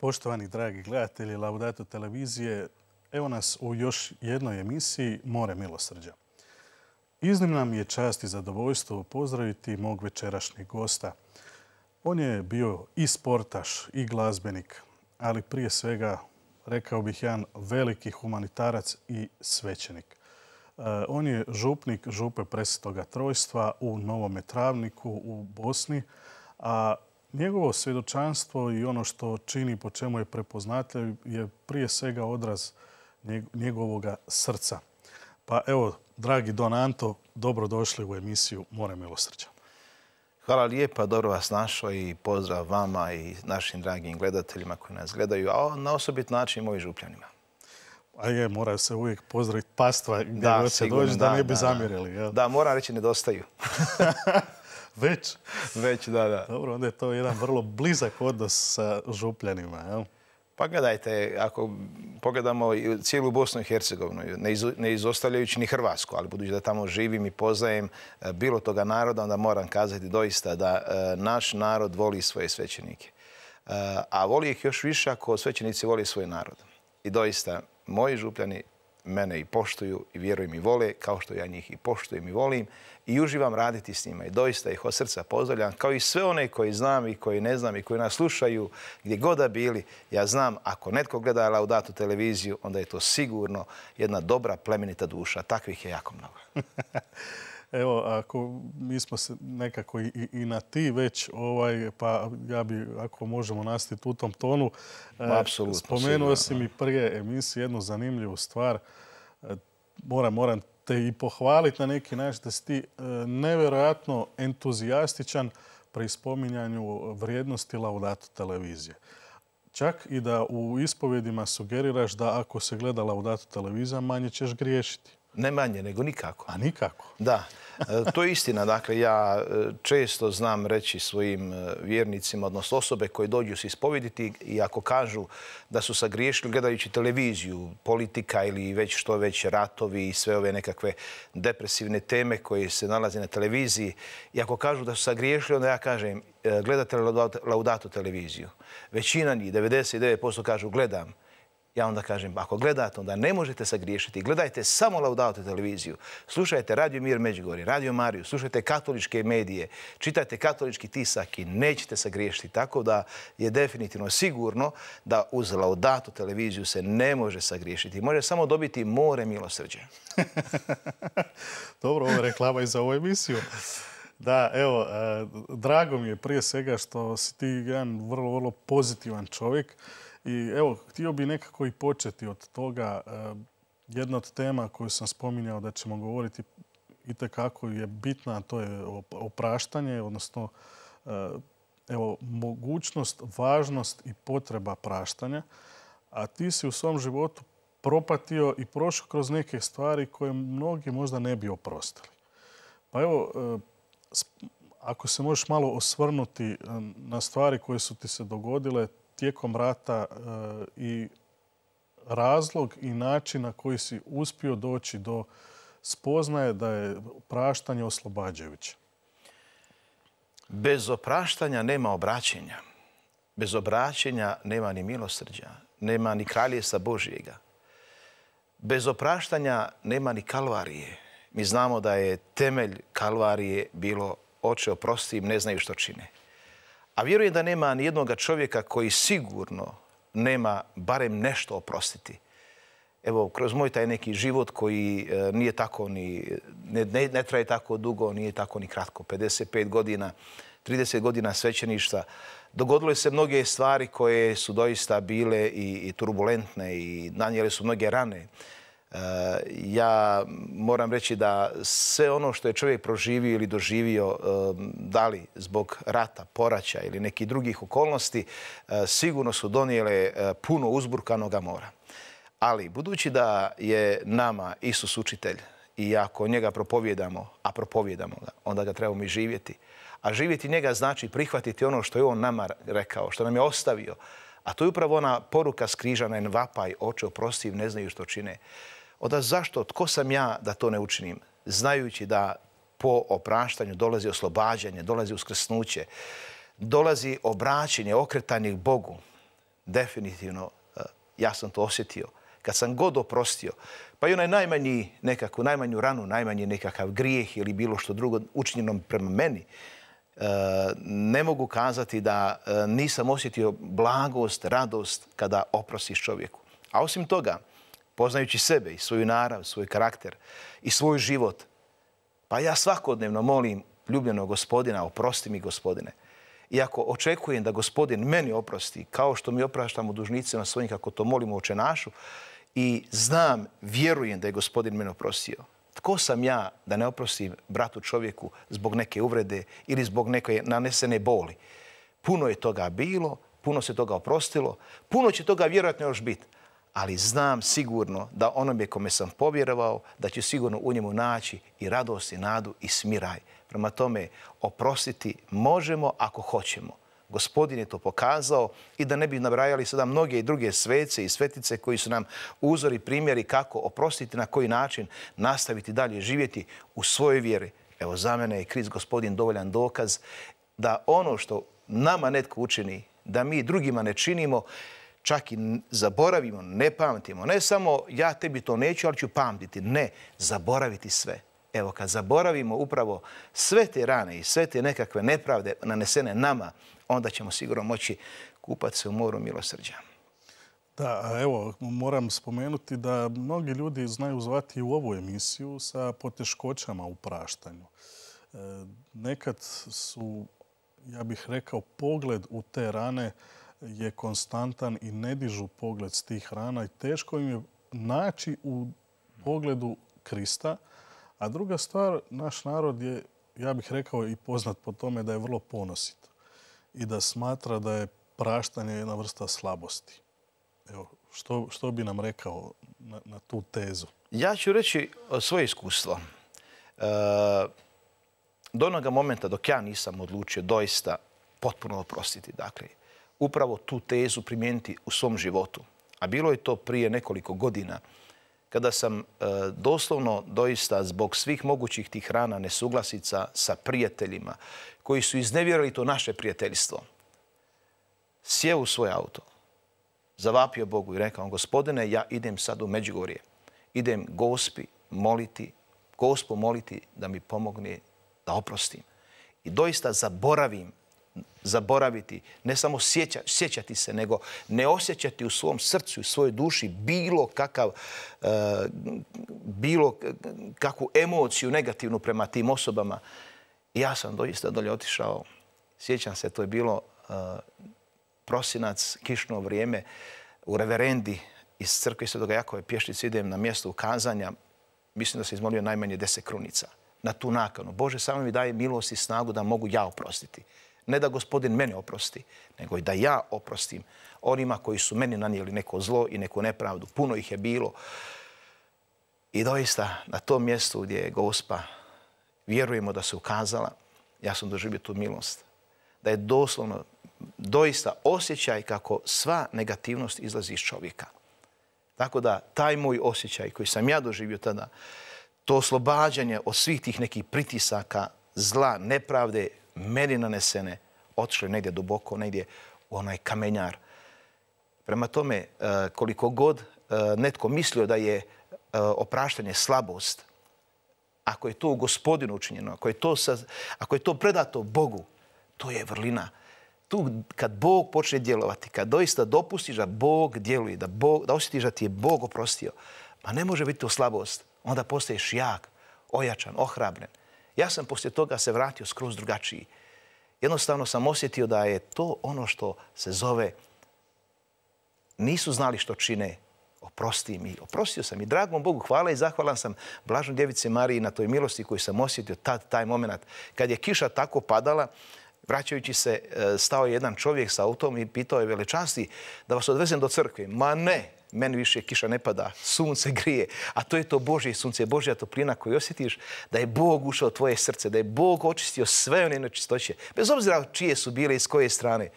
Poštovani dragi gledatelji Laudato televizije, evo nas u još jednoj emisiji More milosrđa. Iznimna mi je čast i zadovoljstvo pozdraviti mog večerašnjeg gosta. On je bio i sportaš i glazbenik, ali prije svega, rekao bih, jedan veliki humanitarac i svećenik. On je župnik župe Presvetoga Trojstva u Novome Travniku u Bosni, a njegovo svjedočanstvo i ono što čini, po čemu je prepoznatljiv, je prije svega odraz njegovoga srca. Pa evo, dragi Don Anto, dobrodošli u emisiju More milosrđa. Hvala lijepa, dobro vas našao i pozdrav vama i našim dragim gledateljima koji nas gledaju, a na osobit način i mojim župljanima. A je, mora se uvijek pozdraviti pastva gdje god se dođe da ne bi zamjerili. Da, moram reći nedostaju. Već? Već, da. Dobro, onda je to jedan vrlo blizak odnos sa župljanima, jel? Pa gledajte, ako pogledamo cijelu Bosnu i Hercegovinu, ne izostavljajući ni Hrvatsku, ali budući da tamo živim i poznajem bilo toga naroda, onda moram kazati doista da naš narod voli svoje svećenike. A voli ih još više ako svećenici voli svoj narod. I doista, moji župljani mene i poštuju i vjerujem i vole, kao što ja njih i poštujem i volim i uživam raditi s njima. I doista ih od srca pozdravljam, kao i sve one koji znam i koji ne znam i koji nas slušaju gdje god da bili. Ja znam, ako netko gleda Laudato televiziju, onda je to sigurno jedna dobra, plemenita duša. Takvih je jako mnogo. Evo, ako mi smo se nekako i na ti već, pa ja bi, ako možemo nastaviti u tom tonu, spomenuo si mi prije emisije jednu zanimljivu stvar. Moram te i pohvaliti na neki način da si ti nevjerojatno entuzijastičan pri spominjanju vrijednosti Laudato televizije. Čak i da u ispovjedima sugeriraš da ako se gleda Laudato televizija, manje ćeš griješiti. Ne manje, nego nikako. A nikako? Da, to je istina. Dakle, ja često znam reći svojim vjernicima, odnosno osobe koje dođu se ispovediti i ako kažu da su sagriješili gledajući televiziju, politika ili već što već ratovi i sve ove nekakve depresivne teme koje se nalaze na televiziji, i ako kažu da su sagriješili, onda ja kažem, gledate li Laudato televiziju? Većina njih, 99% kažu gledam. Ja onda kažem, ako gledate, onda ne možete sagriješiti. Gledajte samo Laudato televiziju. Slušajte Radio Mir Međugorje, Radio Mariju, slušajte katoličke medije, čitajte katolički tisak i nećete sagriješiti. Tako da je definitivno sigurno da uz Laudato televiziju se ne može sagriješiti. Može samo dobiti more milosrđa. Dobro, ovo je reklama i za ovu emisiju. Da, evo, drago mi je prije svega što si ti jedan vrlo, vrlo pozitivan čovjek. I evo, htio bi nekako i početi od toga. Jedna od tema koju sam spominjao da ćemo govoriti itekako je bitna, a to je opraštanje, odnosno evo, mogućnost, važnost i potreba praštanja. A ti si u svom životu propatio i prošao kroz neke stvari koje mnogi možda ne bi oprostili. Pa evo, ako se možeš malo osvrnuti na stvari koje su ti se dogodile tijekom rata i razlog i način na koji si uspio doći do spoznaje da je praštanje oslobađajuće. Bez opraštanja nema obraćenja. Bez obraćenja nema ni milosrđa, nema ni kraljevstva Božjega. Bez opraštanja nema ni kalvarije. Mi znamo da je temelj kalvarije bilo oče oprosti im, ne znaju što čine. A vjerujem da nema ni jednoga čovjeka koji sigurno nema barem nešto oprostiti. Evo, kroz moj taj neki život koji nije tako ni, ne traje tako dugo, nije tako ni kratko, 55 godina, 30 godina svećeništva, dogodilo se mnoge stvari koje su doista bile i turbulentne i nanijele su mnoge rane. Ja moram reći da sve ono što je čovjek proživio ili doživio, da li zbog rata, poraća ili nekih drugih okolnosti, sigurno su donijele puno uzburkanoga mora. Ali budući da je nama Isus učitelj i ako njega propovijedamo, a propovijedamo ga, onda ga trebamo i živjeti. A živjeti njega znači prihvatiti ono što je on nama rekao, što nam je ostavio. A to je upravo ona poruka skrižana i vapaj, oče oprosti im, ne znaju što čine. Onda zašto, tko sam ja da to ne učinim? Znajući da po opraštanju dolazi oslobađanje, dolazi uskrsnuće, dolazi obraćanje, okretanje k Bogu. definitivno ja sam to osjetio. Kad sam god oprostio, pa i onaj najmanju ranu, najmanji nekakav grijeh ili bilo što drugo učinjeno prema meni, ne mogu kazati da nisam osjetio blagost, radost kada oprostiš čovjeku. A osim toga, poznajući sebe i svoju narav, svoj karakter i svoj život, pa ja svakodnevno molim ljubljenog Gospodina, oprosti mi Gospodine. Iako očekujem da Gospodin meni oprosti, kao što mi opraštamo dužnicima svojim kako to molimo u Oče našu, i znam, vjerujem da je Gospodin mene oprostio. Tko sam ja da ne oprostim bratu čovjeku zbog neke uvrede ili zbog neke nanesene boli? Puno je toga bilo, puno se toga oprostilo, puno će toga vjerojatno još biti. Ali znam sigurno da onome kome sam povjerovao, da će sigurno u njemu naći i radost, i nadu, i smiraj. Prema tome, oprostiti možemo ako hoćemo. Gospodin je to pokazao i da ne bi nabrajali sada mnoge i druge svece i svetice koji su nam uzori, primjeri kako oprostiti, na koji način nastaviti dalje živjeti u svojoj vjeri. Evo, za mene je Krist Gospodin dovoljan dokaz da ono što nama netko učini, da mi drugima ne činimo, čak i zaboravimo, ne pamtimo. Ne samo ja tebi to neću, ali ću pamtiti. Ne, zaboraviti sve. Evo, kad zaboravimo upravo sve te rane i sve te nekakve nepravde nanesene nama, onda ćemo sigurno moći kupati se u moru milosrđa. Da, evo, moram spomenuti da mnogi ljudi znaju zvati u ovu emisiju sa poteškoćama u praštanju. Nekad su, ja bih rekao, pogled u te rane je konstantan i ne dižu pogled s tih rana i teško im je naći u pogledu Krista. A druga stvar, naš narod je, ja bih rekao, i poznat po tome da je vrlo ponosit i da smatra da je praštanje jedna vrsta slabosti. Evo, što bi nam rekao na tu tezu? Ja ću reći svoje iskustvo. Do onoga momenta dok ja nisam odlučio doista potpuno oprostiti, dakle, upravo tu tezu primijeniti u svom životu. A bilo je to prije nekoliko godina kada sam doslovno doista zbog svih mogućih tih rana, nesuglasica sa prijateljima koji su iznevjerili to naše prijateljstvo, sjeo u svoj auto, zavapio Bogu i rekao: Gospodine, ja idem sad u Međugorje. Idem Gospu moliti da mi pomogne da oprostim. I doista zaboraviti, ne samo sjećati se, nego ne osjećati u svom srcu i svojoj duši bilo kakvu emociju negativnu prema tim osobama. I ja sam doista dolje otišao. Sjećam se, to je bilo prosinac, kišno vrijeme, u reverendi iz crkve Svetoga Jakova Pješčice idem na mjesto ukazanja. Mislim da se izmolio najmanje 10 krunica na tu nakanu. Bože, samo mi daje milost i snagu da mogu ja oprostiti. Ne da Gospodin mene oprosti, nego i da ja oprostim onima koji su meni nanijeli neko zlo i neku nepravdu. Puno ih je bilo. I doista na tom mjestu gdje je Gospa, vjerujemo da se ukazala, ja sam doživio tu milost. Da je doslovno doista osjećaj kako sva negativnost izlazi iz čovjeka. Tako da taj moj osjećaj koji sam ja doživio tada, to oslobađanje od svih tih nekih pritisaka, zla, nepravde, meni nanesene, otišle negdje duboko, negdje u onaj kamenjar. Prema tome, koliko god netko mislio da je opraštanje slabost, ako je to u Gospodinu učinjeno, ako je to predato Bogu, to je vrlina. Tu kad Bog počne djelovati, kad doista dopustiš da Bog djeluje, da osjetiš da ti je Bog oprostio, pa ne može biti to slabost. Onda postaješ jak, ojačan, ohrabren. Ja sam poslije toga se vratio skroz drugačiji. Jednostavno sam osjetio da je to ono što se zove nisu znali što čine, oprosti mi. Oprostio sam i dragom Bogu hvala i zahvalan sam Blažnoj Djevici Mariji na toj milosti koju sam osjetio taj moment. Kad je kiša tako padala, vraćajući se, stao je jedan čovjek sa autom i pitao je: velečasti, da vas odvezem do crkve? Ma ne, meni više kiša ne pada, sunce grije, a to je to Božje sunce, Božja toplina koju osjetiš, da je Bog ušao u tvoje srce, da je Bog očistio sve one nečistoće, bez obzira čije su bile i s koje strane.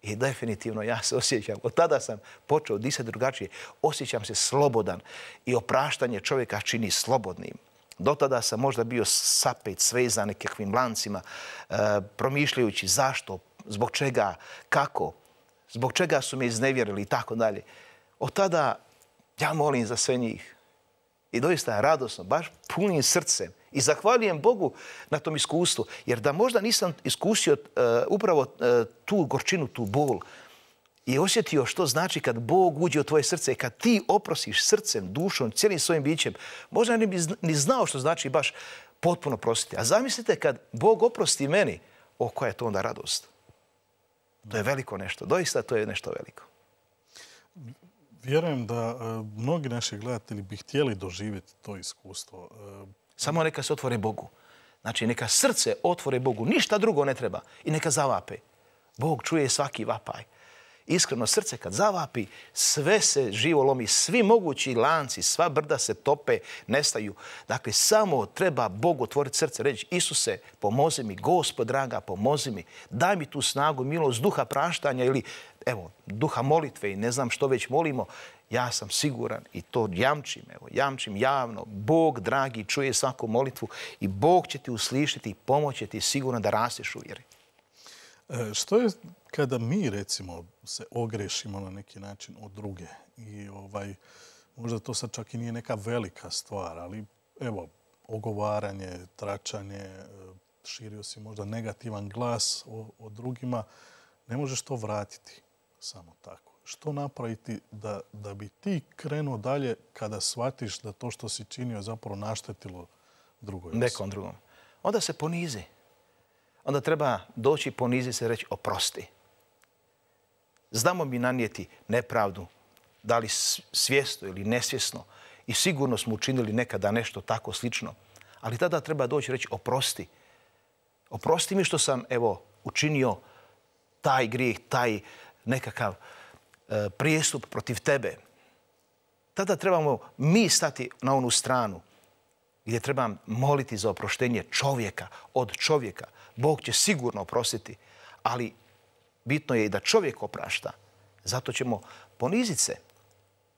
I definitivno ja se osjećam, od tada sam počeo disati drugačije, osjećam se slobodan i opraštanje čovjeka čini slobodnim. Do tada sam možda bio sapet, svezan nekakvim lancima, promišljajući zašto, zbog čega, kako. zbog čega su me iznevjerili i tako dalje. Od tada ja molim za sve njih. I doista radosno, baš punim srcem. I zahvaljujem Bogu na tom iskustvu. Jer da možda nisam iskusio upravo tu gorčinu, tu bol i osjetio što znači kad Bog uđe u tvoje srce i kad ti oprostiš srcem, dušom, cijelim svojim bićem, možda ne bi ni znao što znači baš potpuno prostiti. A zamislite kad Bog oprosti meni, koja je to onda radost. To je veliko nešto. Doista to je nešto veliko. Vjerujem da mnogi naši gledatelji bi htjeli doživjeti to iskustvo. Samo neka se otvore Bogu. Znači, neka srce otvore Bogu. Ništa drugo ne treba. I neka zavape. Bog čuje svaki vapaj. Iskreno, srce kad zavapi, sve se živo lomi. Svi mogući lanci, sva brda se tope, nestaju. Dakle, samo treba Bogu otvoriti srce. Reći, Isuse, pomozi mi. Gospod, draga, pomozi mi. Daj mi tu snagu, milost, duha praštanja ili, evo, duha molitve i ne znam što već molimo. Ja sam siguran i to jamčim javno. Bog, dragi, čuje svaku molitvu i Bog će ti uslišiti i pomoći ti sigurno da rasteš u vjeri. Što je kada mi, recimo, se ogrešimo na neki način od druge i možda to sad čak i nije neka velika stvar, ali evo, ogovaranje, tračanje, širio si možda negativan glas o drugima, ne možeš to vratiti samo tako. Što napraviti da bi ti krenuo dalje kada shvatiš da to što si činio je zapravo naštetilo drugoj osobi? Nekom drugom. Onda se ponizi. Onda treba doći, poniziti se i reći oprosti. Znamo mi nanijeti nepravdu, da li svjesno ili nesvjesno. I sigurno smo učinili nekada nešto tako slično. Ali tada treba doći i reći oprosti. Oprosti mi što sam, evo, učinio taj grijeh, taj nekakav prijestup protiv tebe. Tada trebamo mi stati na onu stranu gdje trebam moliti za oproštenje čovjeka od čovjeka. Bog će sigurno oprostiti, ali bitno je i da čovjek oprašta. Zato ćemo poniziti se.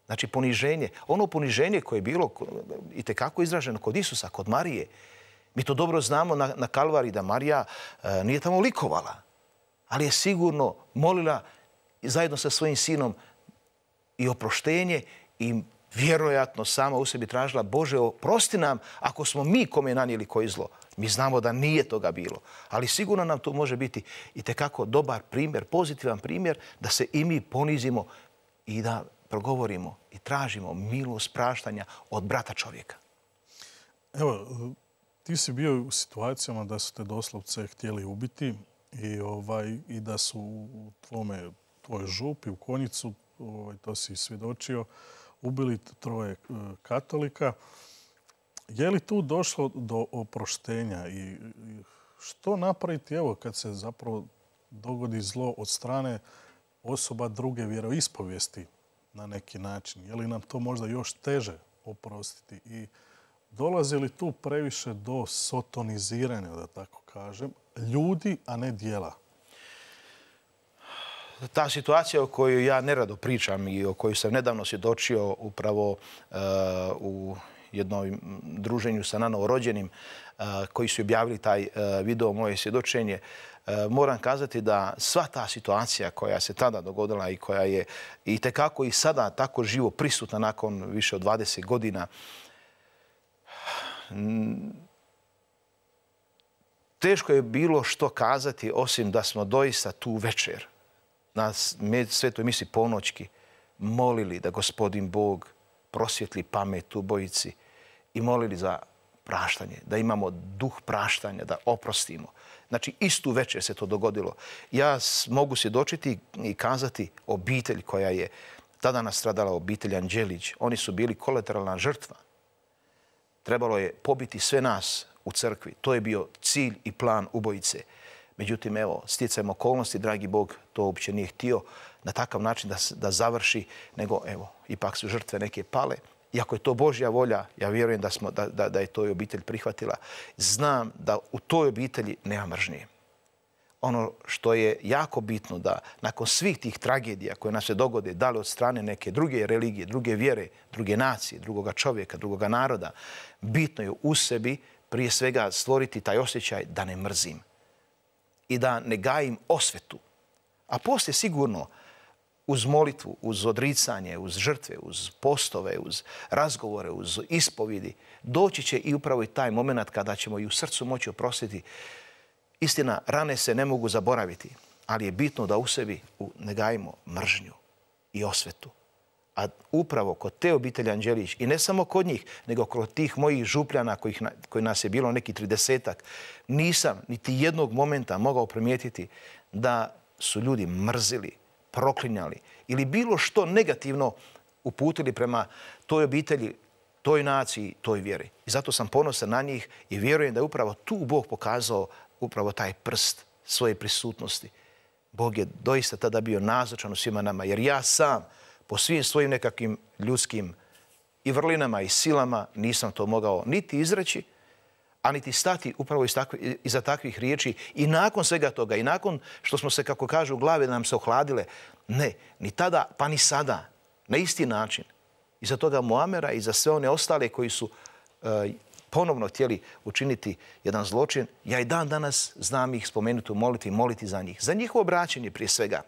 Znači poniženje. Ono poniženje koje je bilo itekako izraženo kod Isusa, kod Marije. Mi to dobro znamo na Kalvariji da Marija nije tamo likovala, ali je sigurno molila zajedno sa svojim sinom i oproštenje i vjerojatno sama u sebi tražila Bože, oprosti nam ako smo mi kome nanijeli koji zlo. Mi znamo da nije toga bilo, ali sigurno nam to može biti itekako dobar primjer, pozitivan primjer da se i mi ponizimo i da progovorimo i tražimo milost praštanja od brata čovjeka. Evo, ti si bio u situacijama da su te doslovce htjeli ubiti i da su u tvojoj župi, u Konjicu, to si svjedočio, ubili 3 katolika. Je li tu došlo do oproštenja i što napraviti evo kad se zapravo dogodi zlo od strane osoba druge vjeroispovijesti na neki način? Je li nam to možda još teže oprostiti? I dolazi li tu previše do sotoniziranja, da tako kažem, ljudi, a ne djela? Ta situacija o kojoj ja nerado pričam i o kojoj sam nedavno svjedočio upravo u jednom druženju sa nanovorođenim koji su objavili taj video moje svjedočenje, moram kazati da sva ta situacija koja se tada dogodila i koja je itekako i sada tako živo prisutna nakon više od 20 godina, teško je bilo što kazati osim da smo doista tu večer na svetoj misi ponoćki molili da Gospodin Bog prosvjetli pamet ubojici i molili za praštanje, da imamo duh praštanja, da oprostimo. Znači, istu večer se to dogodilo. Ja mogu svjedočiti i kazati obitelj koja je tada nastradala, obitelj Anđelić. Oni su bili kolateralna žrtva. Trebalo je pobiti sve nas u crkvi. To je bio cilj i plan ubojice. Međutim, evo, stjecajem okolnosti, dragi Bog to uopće nije htio na takav način da završi, nego, evo, ipak su žrtve neke pale. Iako je to Božja volja, ja vjerujem da je to i obitelj prihvatila. Znam da u toj obitelji nema mržnje. Ono što je jako bitno da nakon svih tih tragedija koje nam se dogode, da li od strane neke druge religije, druge vjere, druge nacije, drugoga čovjeka, drugoga naroda, bitno je u sebi prije svega stvoriti taj osjećaj da ne mrzim i da ne gajim osvetu. A poslije sigurno uz molitvu, uz odricanje, uz žrtve, uz postove, uz razgovore, uz ispovidi, doći će i upravo i taj moment kada ćemo i u srcu moći oprostiti. Istina, rane se ne mogu zaboraviti, ali je bitno da u sebi ne gajimo mržnju i osvetu. A upravo kod te obitelji Anđelić, i ne samo kod njih, nego kod tih mojih župljana koji nas je bilo neki 30-ak, nisam niti jednog momenta mogao primijetiti da su ljudi mrzili, proklinjali ili bilo što negativno uputili prema toj obitelji, toj naciji, toj vjeri. I zato sam ponosan na njih i vjerujem da je upravo tu Bog pokazao upravo taj prst svoje prisutnosti. Bog je doista tada bio nazočan u svima nama, jer ja sam po svim svojim nekakvim ljudskim i vrlinama i silama nisam to mogao niti izreći, a niti stati upravo iza takvih riječi. I nakon svega toga, i nakon što smo se, kako kažu, glave nam se ohladile, ne, ni tada pa ni sada, na isti način. I za toga Muamera i za sve one ostale koji su ponovno htjeli učiniti jedan zločin, ja i dan danas znam ih spomenuti u molitvi, moliti za njih. Za njihovo obraćanje prije svega,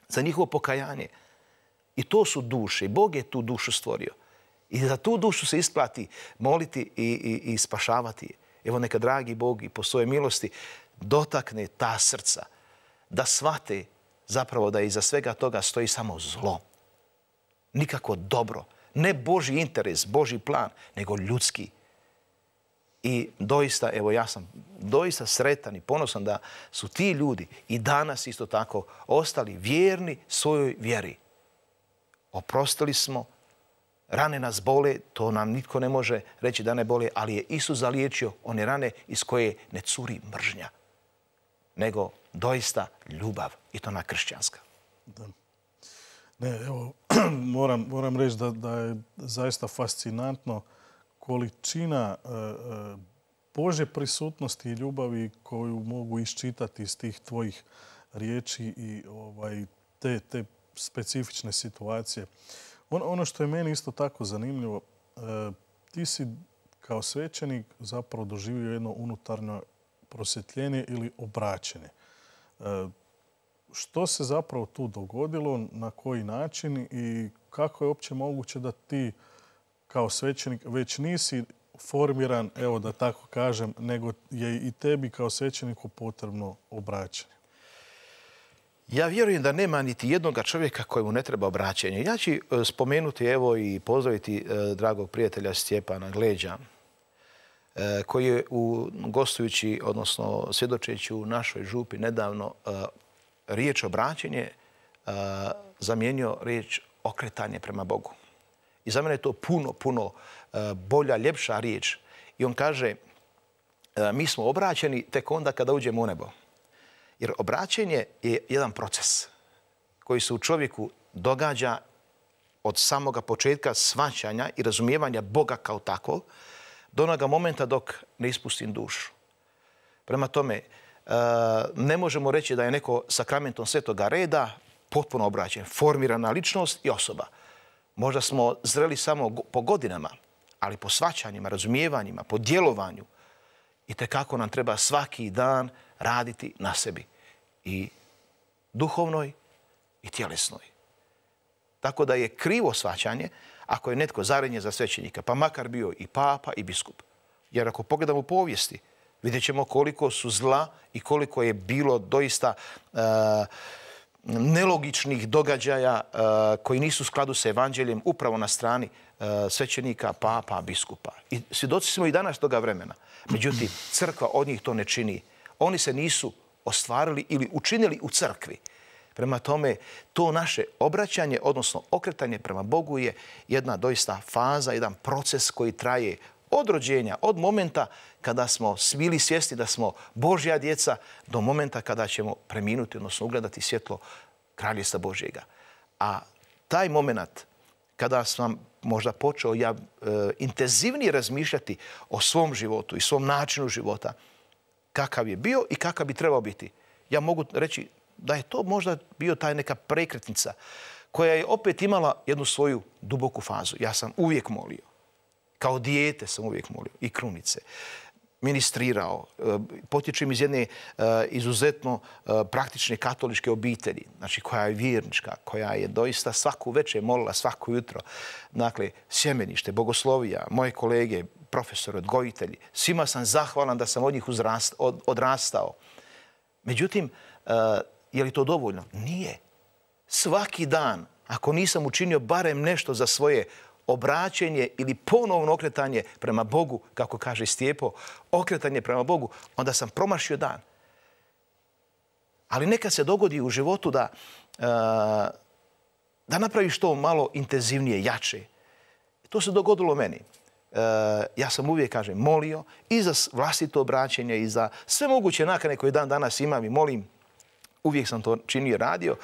za njihovo pokajanje. I to su duše. Bog je tu dušu stvorio. I za tu dušu se isplati moliti i spašavati je. Evo neka dragi Bog i po svojoj milosti dotakne ta srca, da shvate zapravo da iza svega toga stoji samo zlo. Nikako dobro. Ne Božji interes, Božji plan, nego ljudski. I doista, evo ja sam doista sretan i ponosan da su ti ljudi i danas isto tako ostali vjerni svojoj vjeri. Oprostili smo, rane nas bole, to nam nitko ne može reći da ne bole, ali je Isus zaliječio one rane iz koje ne curi mržnja, nego doista ljubav, i to na kršćanska. Da. Ne, evo, moram reći da je zaista fascinantno količina Božje prisutnosti i ljubavi koju mogu iščitati iz tih tvojih riječi i te specifične situacije. Ono što je meni isto tako zanimljivo, ti si kao svećenik zapravo doživio jedno unutarnje prosvjetljenje ili obraćenje. Što se zapravo tu dogodilo, na koji način i kako je uopće moguće da ti kao svećenik već nisi formiran, evo da tako kažem, nego je i tebi kao svećeniku potrebno obraćanje? Ja vjerujem da nema niti jednoga čovjeka kojemu ne treba obraćanje. Ja ću spomenuti evo i pozdraviti dragog prijatelja Stjepana Gleđa, koji je gostujući, odnosno svjedočeći u našoj župi nedavno riječ obraćanje zamijenio riječ okretanje prema Bogu. I za mene je to puno bolja, ljepša riječ. I on kaže, mi smo obraćeni tek onda kada uđemo u nebo. Jer obraćenje je jedan proces koji se u čovjeku događa od samoga početka shvaćanja i razumijevanja Boga kao takvog do onoga momenta dok ne ispustim dušu. Prema tome, ne možemo reći da je neko sakramentom svetoga reda potpuno obraćen, formirana ličnost i osoba. Možda smo zreli samo po godinama, ali po shvaćanjima, razumijevanjima, po djelovanju. I tekako nam treba svaki dan raditi na sebi. I duhovnoj i tjelesnoj. Tako da je krivo shvaćanje ako je netko zarednje za svećenika, pa makar bio i papa i biskup. Jer ako pogledamo u povijesti, vidjet ćemo koliko su zla i koliko je bilo doista nelogičnih događaja koji nisu u skladu sa evanđeljem upravo na strani svećenika, papa, biskupa. I svjedoci smo i danas toga vremena. Međutim, crkva od njih to ne čini. Oni se nisu ostvarili ili učinili u crkvi. Prema tome, to naše obraćanje, odnosno okretanje prema Bogu je jedna doista faza, jedan proces koji traje od rođenja, od momenta kada smo bili svjesni da smo Božja djeca, do momenta kada ćemo preminuti, odnosno ugledati svjetlo Kraljevstva Božjega. A taj moment kada sam možda počeo ja intenzivnije razmišljati o svom životu i svom načinu života, kakav je bio i kakav bi trebao biti. Ja mogu reći da je to možda bio taj neka prekretnica koja je opet imala jednu svoju duboku fazu. Ja sam uvijek molio. Kao dijete sam uvijek molio. I krunice. ministrirao. Potječem iz jedne izuzetno praktične katoličke obitelji, znači koja je vjernička, koja je doista svaku večer molila, svako jutro. Dakle, sjemenište, bogoslovija, moje kolege, profesori, odgojitelji, svima sam zahvalan da sam od njih odrastao. Međutim, je li to dovoljno? Nije. Svaki dan, ako nisam učinio barem nešto za svoje obraćenje ili ponovno okretanje prema Bogu, kako kaže Stjepo, okretanje prema Bogu, onda sam promašio dan. Ali nekad se dogodi u životu da napraviš to malo intenzivnije, jače. To se dogodilo meni. Ja sam uvijek, kažem, molio i za vlastito obraćenje i za sve moguće nakane koje dan danas imam i molim. Uvijek sam to činio, radio.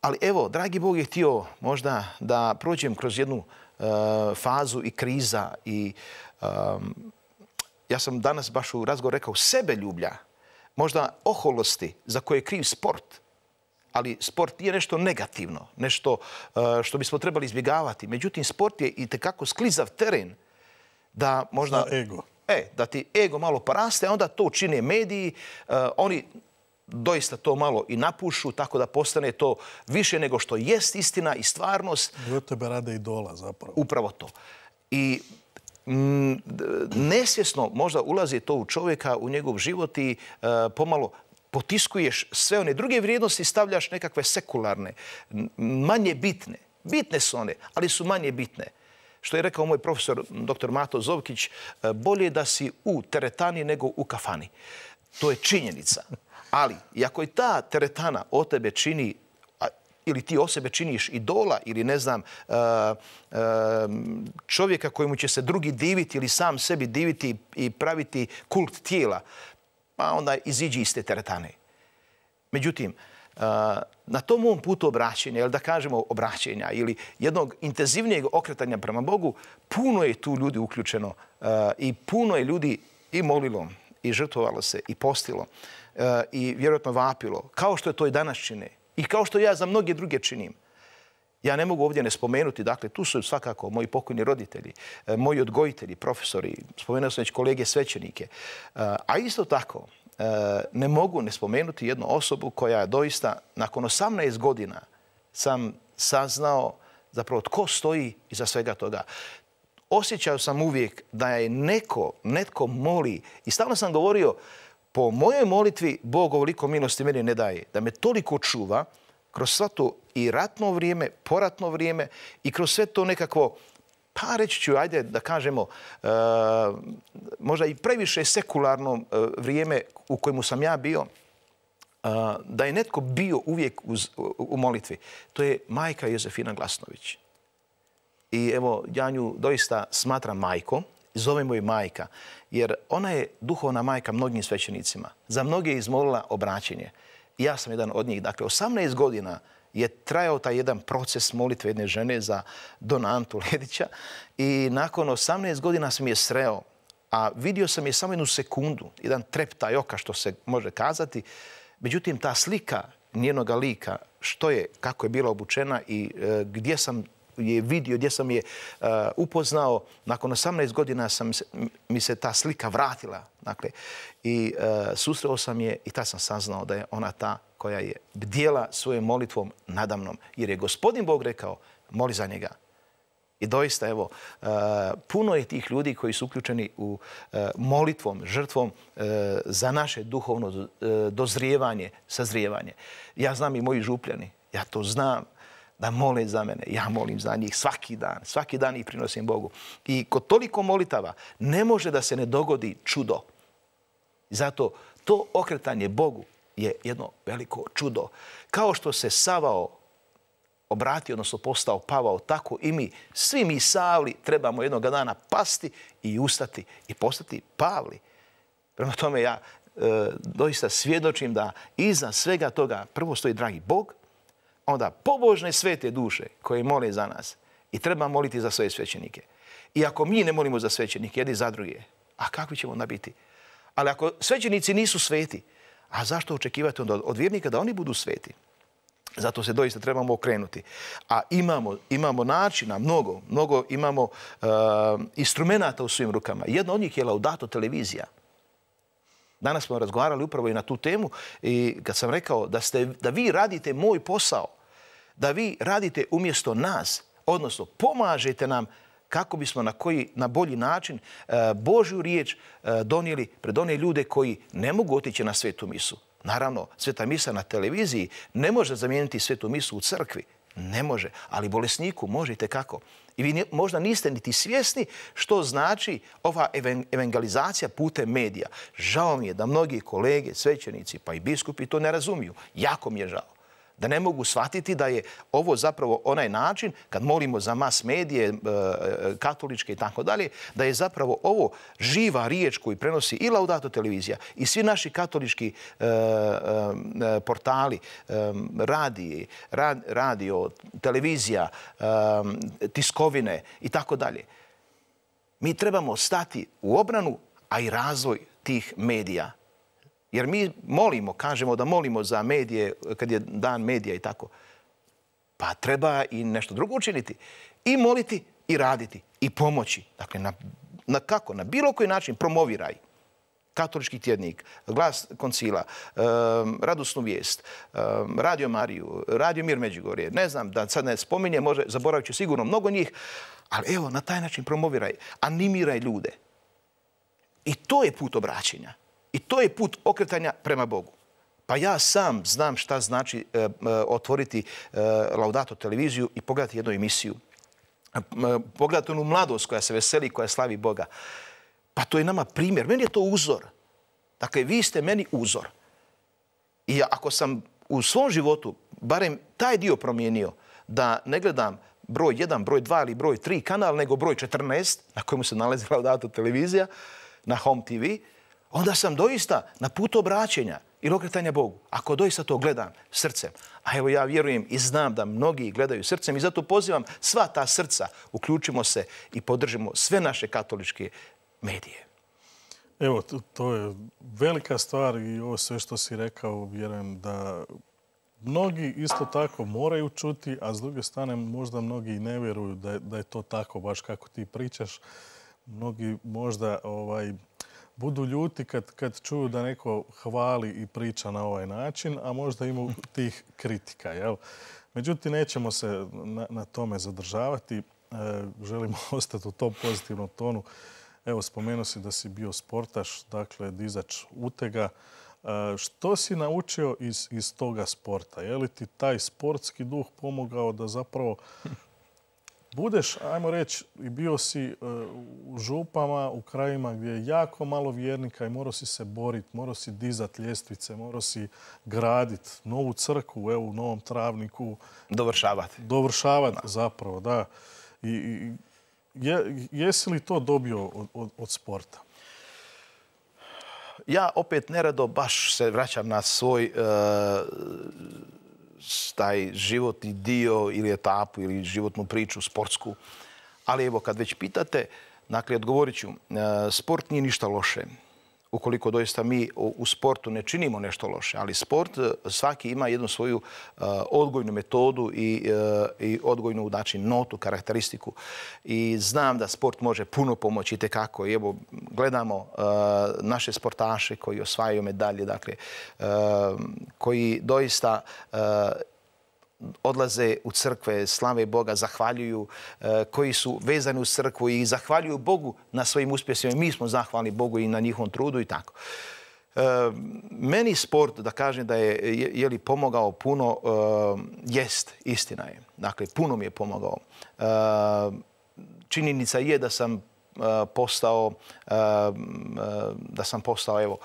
Ali evo, dragi Bog je htio možda da prođem kroz jednu fazu i kriza i ja sam danas baš u razgovoru rekao sebeljublja, možda oholosti za koje je kriv sport. Ali sport nije nešto negativno, nešto što bismo trebali izbjegavati. Međutim, sport je itekako sklizav teren da možda... Ego. Da ti ego malo poraste, a onda to čine mediji, oni doista to malo i napušu, tako da postane to više nego što jest istina i stvarnost. I od tebe rade idola zapravo. Upravo to. I nesvjesno možda ulazi to u čovjeka, u njegov život i pomalo potiskuješ sve one druge vrijednosti, stavljaš nekakve sekularne, manje bitne. Bitne su one, ali su manje bitne. Što je rekao moj profesor dr. Mato Zovkić, bolje da si u teretani nego u kafani. To je činjenica. Ali, iako i ta teretana o tebe čini, ili ti o sebe činiš idola, ili ne znam, čovjeka kojemu će se drugi diviti ili sam sebi diviti i praviti kult tijela, pa onda iziđi iz te teretane. Međutim, na tom mom putu obraćenja, ili da kažemo obraćenja, ili jednog intenzivnijeg okretanja prema Bogu, puno je tu ljudi uključeno i puno je ljudi i molilo, i žrtvovalo se, i postilo, i vjerojatno vapilo, kao što je to i danas čine, i kao što ja za mnoge druge činim. Ja ne mogu ovdje ne spomenuti, dakle, tu su svakako moji pokojni roditelji, moji odgojitelji, profesori, spomenuo sam već kolege svećenike, a isto tako ne mogu ne spomenuti jednu osobu koja je doista, nakon 18 godina sam saznao zapravo tko stoji iza svega toga. Osjećao sam uvijek da je netko moli i stalno sam govorio, po mojoj molitvi Bog ovoliko milosti meni ne daje, da me toliko čuva kroz sve to i ratno vrijeme, poratno vrijeme i kroz sve to nekakvo, pa reći ću, ajde da kažemo, možda i previše sekularno vrijeme u kojemu sam ja bio, da je netko bio uvijek u molitvi. To je majka Jozefina Glasnović. I evo, ja nju doista smatram majkom, zovemo je majka, jer ona je duhovna majka mnogim svećenicima. Za mnoge je izmolila obraćenje. I ja sam jedan od njih. Dakle, 18 godina je trajao taj jedan proces molitve jedne žene za Dona Antu Ledića i nakon 18 godina sam je sreo, a vidio sam je samo jednu sekundu, jedan treptaj oka, što se može kazati. Međutim, ta slika njenoga lika, što je, kako je bila obučena i gdje sam je vidio, gdje sam je upoznao, nakon 18 godina mi se ta slika vratila. Dakle, i susreo sam je i tad sam saznao da je ona ta koja je bdjela svojom molitvom nadamnom. Jer je Gospodin Bog rekao, moli za njega. I doista, evo, puno je tih ljudi koji su uključeni u molitvom, žrtvom za naše duhovno dozrijevanje, sazrijevanje. Ja znam i moji župljani, ja to znam, da mole za mene. Ja molim za njih svaki dan ih prinosim Bogu. I kod toliko molitava ne može da se ne dogodi čudo. Zato to okretanje Bogu je jedno veliko čudo. Kao što se Savao obratio, odnosno postao Pavao, tako i mi, svi mi Savli, trebamo jednog dana pasti i ustati i postati Pavli. Prema tome ja doista svjedočim da iza svega toga prvo stoji dragi Bog, onda pobožne svete duše koje mole za nas i treba moliti za svoje svećenike. I ako mi ne molimo za svećenike, jedni za druge, a kakvi ćemo onda biti? Ali ako svećenici nisu sveti, a zašto očekivati onda od vjernika da oni budu sveti? Zato se doista trebamo okrenuti. A imamo načina, mnogo imamo instrumenta u svojim rukama. Jedno od njih je Laudato televizija. Danas smo razgovarali upravo i na tu temu i kad sam rekao da vi radite moj posao, da vi radite umjesto nas, odnosno pomažete nam kako bismo na bolji način Božju riječ donijeli pred one ljude koji ne mogu otići na svetu misu. Naravno, sveta misa na televiziji ne može zamijeniti svetu misu u crkvi. Ne može, ali bolesniku možete kako. I vi možda niste niti svjesni što znači ova evangelizacija putem medija. Žao mi je da mnogi kolege, svećenici pa i biskupi to ne razumiju. Jako mi je žao. Da ne mogu shvatiti da je ovo zapravo onaj način, kad molimo za mas medije, katoličke i tako dalje, da je zapravo ovo živa riječ koju prenosi i Laudato televizija i svi naši katolički portali, radio, televizija, tiskovine i tako dalje. Mi trebamo stati u obranu, a i razvoj tih medija. Jer mi molimo, kažemo da molimo za medije, kad je dan medija i tako. Pa treba i nešto drugo učiniti. I moliti i raditi i pomoći. Dakle, kako? Na bilo koji način promoviraj. Katolički tjednik, Glas koncila, Radosnu vijest, Radio Mariju, Radio Mir Međugorje. Ne znam, da sad ne spominje, zaboravit ću sigurno mnogo njih, ali evo, na taj način promoviraj, animiraj ljude. I to je put obraćenja. I to je put okretanja prema Bogu. Pa ja sam znam šta znači otvoriti Laudato televiziju i pogledati jednu emisiju. Pogledati onu mladost koja se veseli, koja slavi Boga. Pa to je nama primjer. Meni je to uzor. Dakle, vi ste meni uzor. I ako sam u svom životu barem taj dio promijenio, da ne gledam broj 1, broj 2 ili broj 3 kanal, nego broj 14, na kojemu se nalazi Laudato televizija, na Home TV, onda sam doista na putu obraćenja ili okretanja Bogu. Ako doista to gledam srcem, a evo ja vjerujem i znam da mnogi gledaju srcem i zato pozivam sva ta srca, uključimo se i podržimo sve naše katoličke medije. Evo, to je velika stvar i ovo sve što si rekao, vjerujem da mnogi isto tako moraju čuti, a s druge strane možda mnogi i ne vjeruju da je to tako, baš kako ti pričaš. Mnogi možda budu ljuti kad čuju da neko hvali i priča na ovaj način, a možda ima tih kritika. Jel? Međutim, nećemo se na tome zadržavati. Želimo ostati u tom pozitivnom tonu. Evo, spomenuo si da si bio sportaš, dakle, dizač utega. Što si naučio iz toga sporta? Je li ti taj sportski duh pomogao da zapravo budeš, ajmo reći, i bio si u župama, u krajima gdje je jako malo vjernika i morao si se boriti, morao si dizati ljestvice, morao si graditi novu crkvu, evo u Novom Travniku. Dovršavati zapravo, da. Jesi li to dobio od sporta? Ja opet nerado baš se vraćam na svoj taj životni dio ili etapu ili životnu priču sportsku. Ali evo, kad već pitate, dakle, odgovorit ću, sport nije ništa loše. Ukoliko doista mi u sportu ne činimo nešto loše, ali sport svaki ima jednu svoju odgojnu metodu i odgojnu, znači, notu, karakteristiku. I znam da sport može puno pomoći itekako. I evo, gledamo naše sportaše koji osvajaju medalje, dakle, koji doista odlaze u crkve, slave Boga, zahvaljuju, koji su vezani u crkvu i zahvaljuju Bogu na svojim uspjesima. Mi smo zahvalni Bogu i na njihovom trudu i tako. Meni sport, da kažem da je li pomogao puno, jest, istina je. Dakle, puno mi je pomogao. Činjenica je da sam postao evo,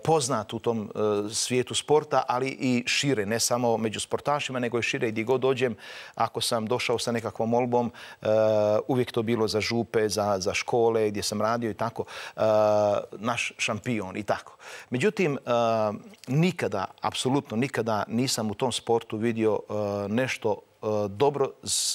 poznat u tom svijetu sporta, ali i šire, ne samo među sportašima, nego i šire gdje god dođem. Ako sam došao sa nekakvom molbom, uvijek to bilo za župe, za škole gdje sam radio i tako, naš šampion i tako. Međutim, nikada, apsolutno nikada nisam u tom sportu vidio nešto dobro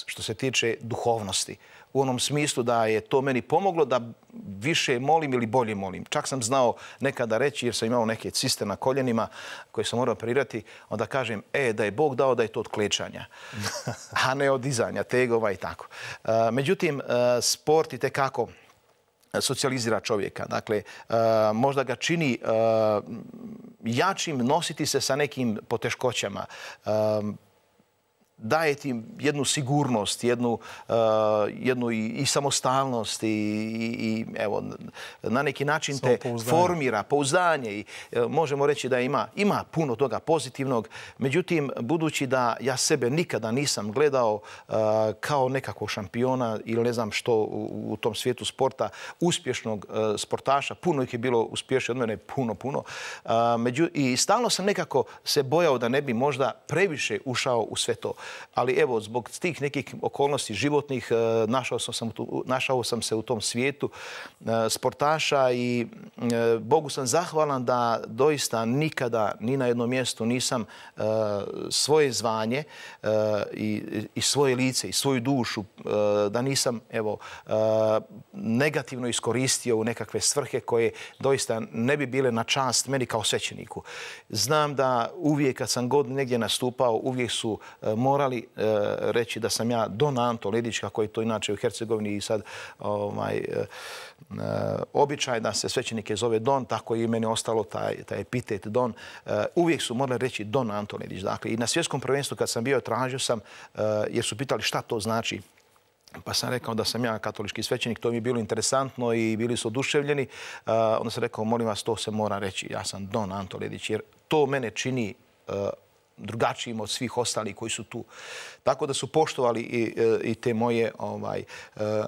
što se tiče duhovnosti. U onom smislu da je to meni pomoglo da više molim ili bolje molim. Čak sam znao nekada reći, jer sam imao neke ciste na koljenima koje sam morao operirati, onda kažem, da je Bog dao da je to od klečanja, a ne od dizanja tegova i tako. Međutim, sport itekako socijalizira čovjeka. Dakle, možda ga čini jačim nositi se sa nekim poteškoćama. Daje ti jednu sigurnost, jednu i samostalnost i evo, na neki način te formira, pouzdanje i možemo reći da ima puno toga pozitivnog. Međutim, budući da ja sebe nikada nisam gledao kao nekakvog šampiona ili ne znam što u tom svijetu sporta, uspješnog sportaša, puno ih je bilo uspješnije od mene, puno. I stalno sam nekako se bojao da ne bi možda previše ušao u sve to. Ali evo, zbog tih nekih okolnosti životnih našao sam se u tom svijetu sportaša i Bogu sam zahvalan da doista nikada ni na jednom mjestu nisam svoje zvanje i svoje lice i svoju dušu, da nisam negativno iskoristio u nekakve svrhe koje doista ne bi bile na čast meni kao svećeniku. Znam da uvijek kad sam god negdje nastupao, uvijek su morali reći da sam ja Don Anto Ledić, kako je to inače u Hercegovini i sad običaj da se svećenike zove Don, tako je i meni ostalo taj epitet Don. Uvijek su morali reći Don Anto Ledić. Dakle, i na svjetskom prvenstvu kad sam bio, tražio sam, jer su pitali šta to znači. Pa sam rekao da sam ja katolički svećenik, to mi je bilo interesantno i bili su oduševljeni. Onda sam rekao, molim vas, to se mora reći. Ja sam Don Anto Ledić, jer to mene čini drugačijim od svih ostalih koji su tu. Tako da su poštovali i te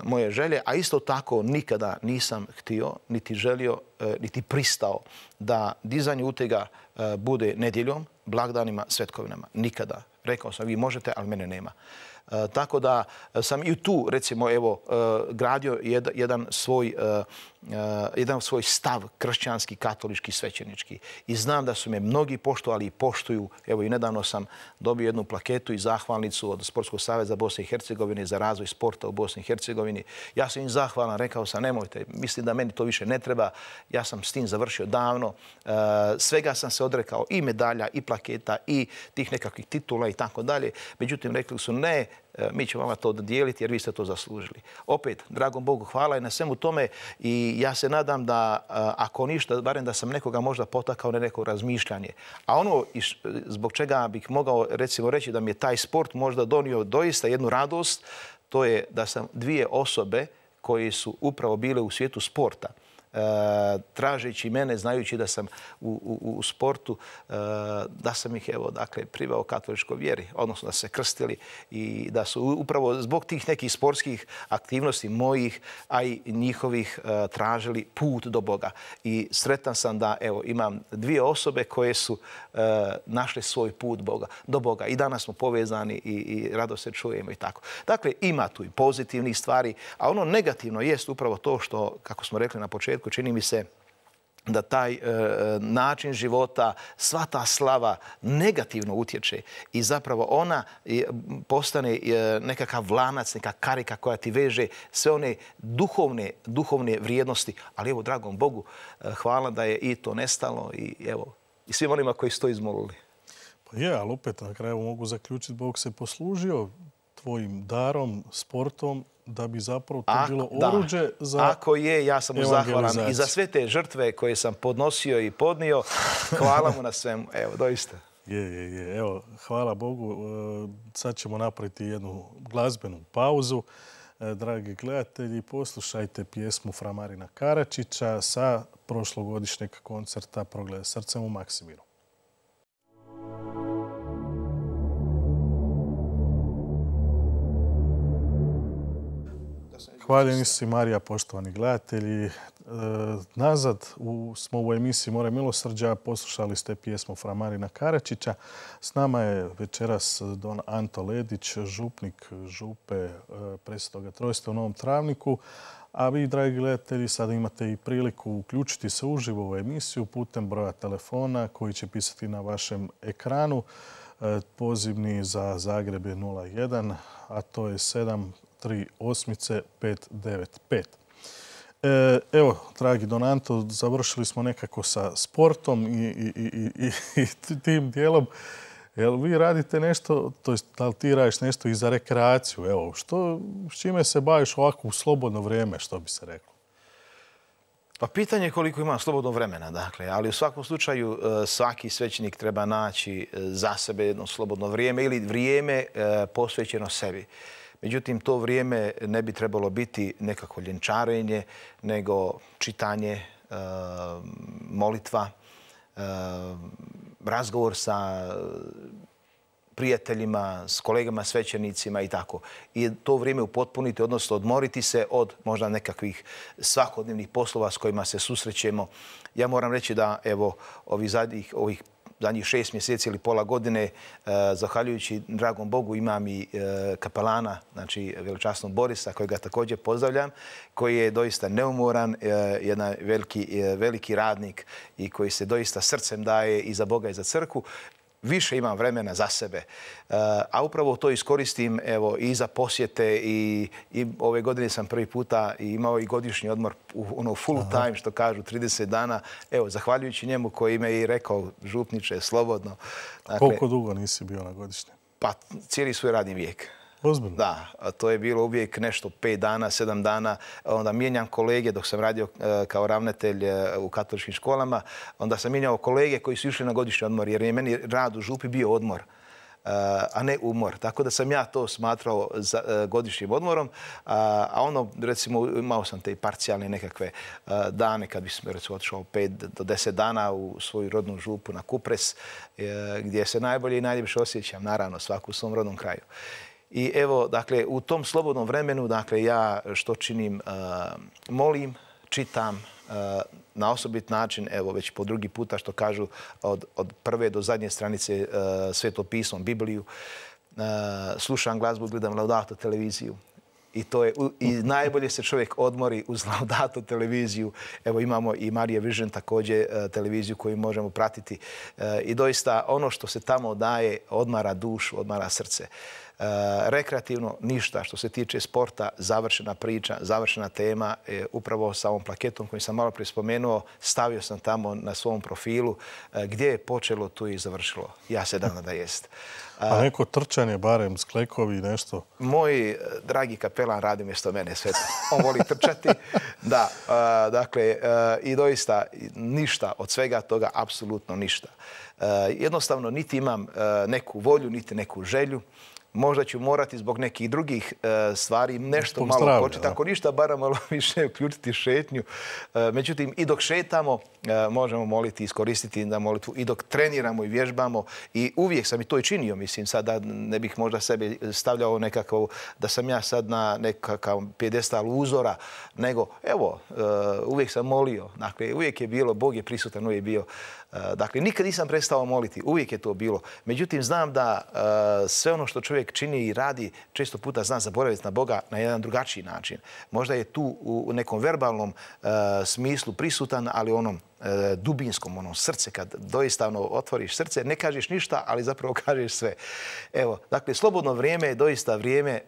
moje želje, a isto tako nikada nisam htio, niti želio, niti pristao da dizanje utega bude nedjeljom, blagdanima, svetkovinama. Nikada. Rekao sam, vi možete, ali mene nema. Tako da sam i tu, recimo, gradio jedan svoj stav kršćanski, katolički, svećenički. I znam da su me mnogi poštovali i poštuju. Evo, i nedavno sam dobio jednu plaketu i zahvalnicu od Sportskog saveza Bosne i Hercegovine za razvoj sporta u Bosni i Hercegovini. Ja sam im zahvalan, rekao sam, nemojte, mislim da meni to više ne treba. Ja sam s tim završio davno. Svega sam se odrekao, i medalja, i plaketa, i tih nekakvih titula i tako dalje. Međutim, rekli su ne, mi ćemo vama to dodijeliti jer vi ste to zaslužili. Opet, dragom Bogu hvala i na svemu tome i ja se nadam da, ako ništa, barem da sam nekoga možda potakao na neko razmišljanje. A ono zbog čega bih mogao recimo reći da mi je taj sport možda donio doista jednu radost, to je da sam dvije osobe koje su upravo bile u svijetu sporta, tražeći mene, znajući da sam u sportu, da sam ih priveo katoličkoj vjeri, odnosno da se krstili i da su upravo zbog tih nekih sportskih aktivnosti mojih, a i njihovih, tražili put do Boga. I sretan sam da imam dvije osobe koje su našle svoj put do Boga. I danas smo povezani i rado se čujemo i tako. Dakle, ima tu i pozitivnih stvari, a ono negativno jest upravo to što, kako smo rekli na početku, čini mi se da taj način života, sva ta slava negativno utječe i zapravo ona postane nekakav lanac, neka karika koja ti veže sve one duhovne vrijednosti. Ali evo, dragom Bogu, hvala da je i to nestalo i evo, i svim onima koji su to izmolili. Pa je, ali opet na kraju mogu zaključiti, Bog se poslužio tvojim darom, sportom, da bi zapravo to bilo oruđe za evangelizaciju. Ako je, ja sam mu zahvalan i za sve te žrtve koje sam podnosio i podnio. Hvala mu na svemu. Evo, doista. Je. Evo, hvala Bogu. Sad ćemo napraviti jednu glazbenu pauzu. Dragi gledatelji, poslušajte pjesmu Fra Marina Karačića sa prošlogodišnjeg koncerta Progled srcem u Maksimiru. Hvaljeni si Marija, poštovani gledatelji. Nazad smo u emisiji More milosrđa. Poslušali ste pjesmu Fra Marina Karačića. S nama je večeras Don Anto Ledić, župnik župe Presvetoga Trojstva u Novom Travniku. A vi, dragi gledatelji, sada imate i priliku uključiti se uživo u emisiju putem broja telefona koji će pisati na vašem ekranu. Pozivni za Zagreb je 01, a to je 738-595. Evo, dragi Don Anto, završili smo nekako sa sportom i tim dijelom. Jel vi radite nešto, to jest da li ti radiš nešto i za rekreaciju? Evo, s čime se baviš ovako u slobodno vrijeme, što bi se reklo? Pa pitanje je koliko ima slobodnog vremena, dakle, ali u svakom slučaju svaki svećenik treba naći za sebe jedno slobodno vrijeme ili vrijeme posvećeno sebi. Međutim, to vrijeme ne bi trebalo biti nekako ljenčarenje, nego čitanje, molitva, razgovor sa prijateljima, s kolegama svećenicima i tako. I to vrijeme upotpuniti, odnosno odmoriti se od možda nekakvih svakodnevnih poslova s kojima se susrećemo. Ja moram reći da evo ovih zadnjih 6 mjeseci ili pola godine, zahvaljujući dragom Bogu, imam i kapelana, znači veličasnog Borisa, kojega također pozdravljam, koji je doista neumoran, jedan veliki radnik i koji se doista srcem daje i za Boga i za crkvu. Više imam vremena za sebe. A upravo to iskoristim i za posjete i ove godine sam prvi puta imao i godišnji odmor full time, što kažu, 30 dana. Evo, zahvaljujući njemu koji me i rekao, župniče, slobodno. Dakle, koliko dugo nisi bio na godišnjem? Pa cijeli svoj radni vijek. Ozbiljno? Da, to je bilo uvijek nešto 5 dana, 7 dana. Onda mijenjam kolege dok sam radio kao ravnatelj u katoličkim školama. Onda sam mijenjao kolege koji su išli na godišnji odmor jer je meni rad u župi bio odmor, a ne umor. Tako da sam ja to smatrao godišnjim odmorom. A ono, recimo, imao sam te parcijalne nekakve dane kad bi sam recimo otišao 5 do 10 dana u svoju rodnu župu na Kupres, gdje se najbolje i najljepše osjećam, naravno, svaku u svom rodnom kraju. I evo, dakle, u tom slobodnom vremenu, dakle, ja što činim, molim, čitam na osobit način, evo, već po drugi puta što kažu od prve do zadnje stranice Sveto pismo, Bibliju, slušam glazbu, gledam Laudato televiziju. I najbolje se čovjek odmori uz Laudato televiziju. Evo imamo i Marija Vision također televiziju koju možemo pratiti. I doista ono što se tamo daje odmara dušu, odmara srce. Rekreativno ništa. Što se tiče sporta, završena priča, završena tema. Upravo sa ovom plaketom koju sam malo prije spomenuo, stavio sam tamo na svom profilu. Gdje je počelo, tu je i završilo. Ja se nadam da jest. A neko trčanje, barem sklekovi, nešto? Moj dragi kapelan radi mjesto mene sve to. On voli trčati. Da, dakle, i doista ništa od svega toga, apsolutno ništa. Jednostavno, niti imam neku volju, niti neku želju. Možda ću morati zbog nekih drugih stvari nešto malo početi. Ako ništa, bara malo više uključiti šetnju. Međutim, i dok šetamo, možemo moliti, iskoristiti na molitvu. I dok treniramo i vježbamo. I uvijek sam i to i činio, mislim, sad da ne bih možda sebe stavljao nekakav, da sam ja sad na nekakav pjedestal uzora, nego, evo, uvijek sam molio. Dakle, uvijek je bilo, Bog je prisutan, uvijek je bio. Dakle, nikad nisam prestao moliti, uvijek je to bilo. Međutim, znam da sve ono što čovjek čini i radi, često puta zna zaboraviti na Boga na jedan drugačiji način. Možda je tu u nekom verbalnom smislu prisutan, ali onom dubinskom, onom srce, kad doista otvoriš srce, ne kažeš ništa, ali zapravo kažeš sve. Evo, dakle, slobodno vrijeme je doista vrijeme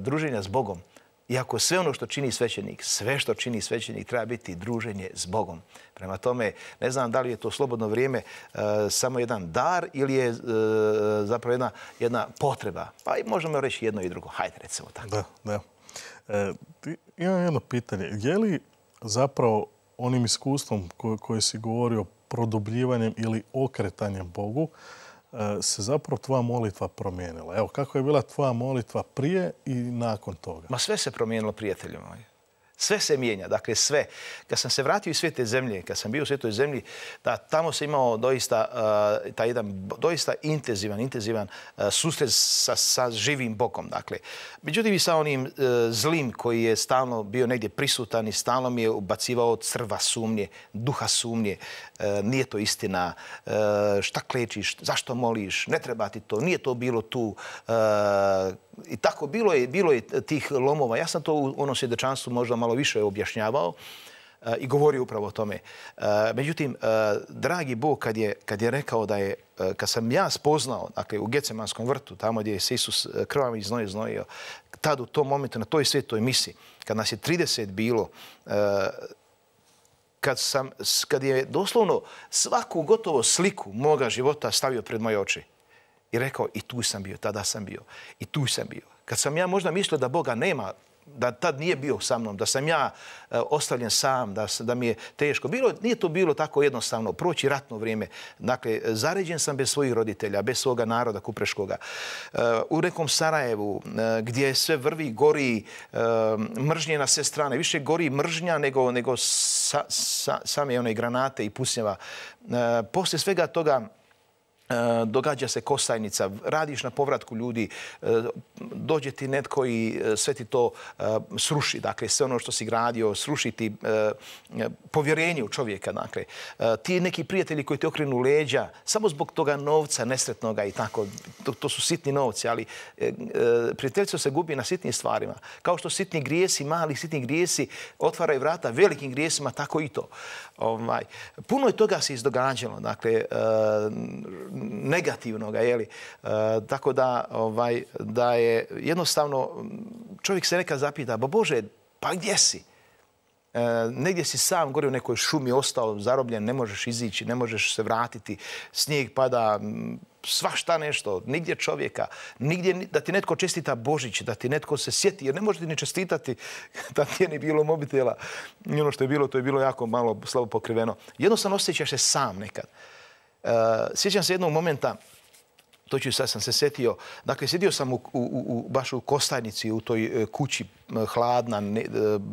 druženja s Bogom. Iako sve ono što čini svećenik, sve što čini svećenik treba biti druženje s Bogom. Prema tome, ne znam da li je to slobodno vrijeme samo jedan dar ili je zapravo jedna potreba. Pa i možemo reći jedno i drugo. Hajde, recimo tako. Da. Imam jedno pitanje. Je li zapravo onim iskustvom koji si govorio produbljivanjem ili okretanjem Bogu se zapravo tvoja molitva promijenila? Evo, kako je bila tvoja molitva prije i nakon toga? Ma sve se promijenilo, prijatelju moji. Sve se mijenja, dakle sve. Kad sam se vratio iz Svete zemlje, kad sam bio u Svetoj zemlji, tamo se imao doista taj jedan doista intenzivan susret sa živim Bogom. Dakle, međutim i sa onim zlim koji je stalno bio negdje prisutan i stalno mi je ubacivao crva sumnje, duha sumnje. Nije to istina, šta klečiš, zašto moliš, ne treba ti to, nije to bilo tu. I tako bilo je tih lomova. Ja sam to u onom svjedočanstvu možda malo više objašnjavao i govorio upravo o tome. Međutim, dragi Bog kad je rekao da je, kad sam ja spoznao, dakle u Gecemanskom vrtu, tamo gdje je se Isus krvavim znojio, tad u tom momentu, na toj svetoj misi, kad nas je 30 bilo, kad je doslovno svaku gotovo sliku moga života stavio pred moje oči i rekao, i tu sam bio, tada sam bio, i tu sam bio. Kad sam ja možda mislio da Boga nema, da tad nije bio sa mnom, da sam ja ostavljen sam, da mi je teško. Nije to bilo tako jednostavno, proći ratno vrijeme. Dakle, zaređen sam bez svojih roditelja, bez svoga naroda kupreškoga. U nekom Sarajevu, gdje sve vrvi, gori, mržnje na sve strane. Više gori mržnja nego same one granate i pucnjeva. Poslije svega toga događa se Kostajnica, radiš na povratku ljudi, dođe ti netko i sve ti to sruši, dakle sve ono što si gradio, sruši ti povjerenje u čovjeka, dakle. Ti neki prijatelji koji te okrenu leđa, samo zbog toga novca nesretnoga i tako, to su sitni novci, ali prijateljstvo se gubi na sitnim stvarima. Kao što sitni grijesi, mali sitni grijesi otvaraju vrata velikim grijesima, tako i to. Puno je toga se izdogađalo, dakle, negativnoga, jeli. Tako da je jednostavno, čovjek se nekad zapita, Bože, pa gdje si? Negdje si sam gore u nekoj šumi ostao zarobljen, ne možeš izići, ne možeš se vratiti, snijeg pada, svašta nešto, nigdje čovjeka, nigdje da ti netko čestita Božić, da ti netko se sjeti, jer ne možete ni čestitati da ti je ni bilo mobitela. I ono što je bilo, to je bilo jako malo slabo pokriveno. Jednostavno osjećaš se sam nekad. Sjećam se jednog momenta, sad sam se sjetio, dakle, sjedio sam baš u Kostajnici, u toj kući hladna,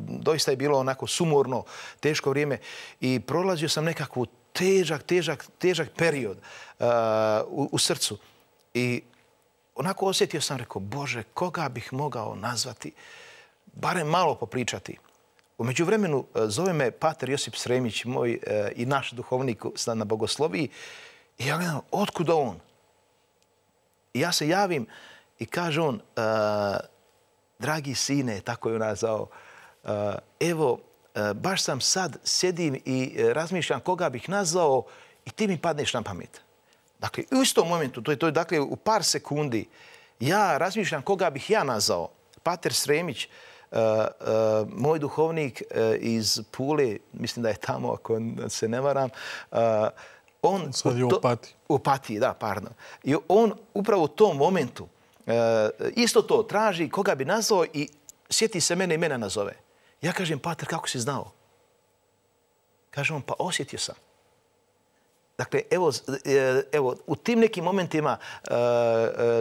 doista je bilo onako sumorno, teško vrijeme i prolazio sam nekakvu težak period u srcu i onako osjetio sam, rekao, Bože, koga bih mogao nazvati, barem malo popričati. U međuvremenu zove me pater Josip Sremić, moj i naš duhovnik na bogosloviji, i ja gledam, otkud on? I ja se javim i kaže on, dragi sine, tako je on nazvao, evo, baš sam sad sjedim i razmišljam koga bih nazvao i ti mi padneš na pamet. Dakle, u istom momentu, to je dakle u par sekundi, ja razmišljam koga bih ja nazvao. Pater Sremić, moj duhovnik iz Pule, mislim da je tamo, ako se ne varam, on sad je u Opatiji. U Opatiji, da, pardon. I on upravo u tom momentu isto to traži koga bi nazvao i sjeti se mene i mene nazove. Ja kažem, pater, kako si znao? Kaže on, pa osjetio sam. Dakle, evo, u tim nekim momentima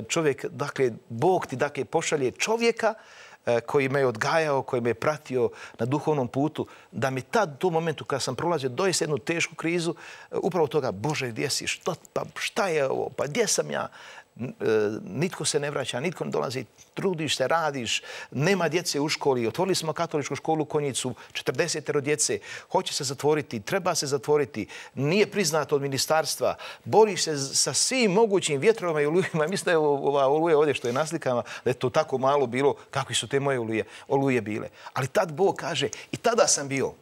čovjek, dakle, Bog ti dakle pošalje čovjeka koji me je odgajao, koji me je pratio na duhovnom putu, da mi tad, u tom momentu kad sam prolazio doista jednu tešku krizu, upravo toga, Bože, gdje si, šta je ovo, pa gdje sam ja? Nitko se ne vraća, nitko ne dolazi, trudiš se, radiš, nema djece u školi, otvorili smo katoličku školu u Konjicu, 40 djece, hoće se zatvoriti, treba se zatvoriti, nije priznato od ministarstva, boriš se sa svim mogućim vjetrovima i olujima. Mislim da je ova oluja ovdje što je na slikama, da je to tako malo bilo, kakvi su te moje oluje bile. Ali tad Bog kaže, i tada sam bio.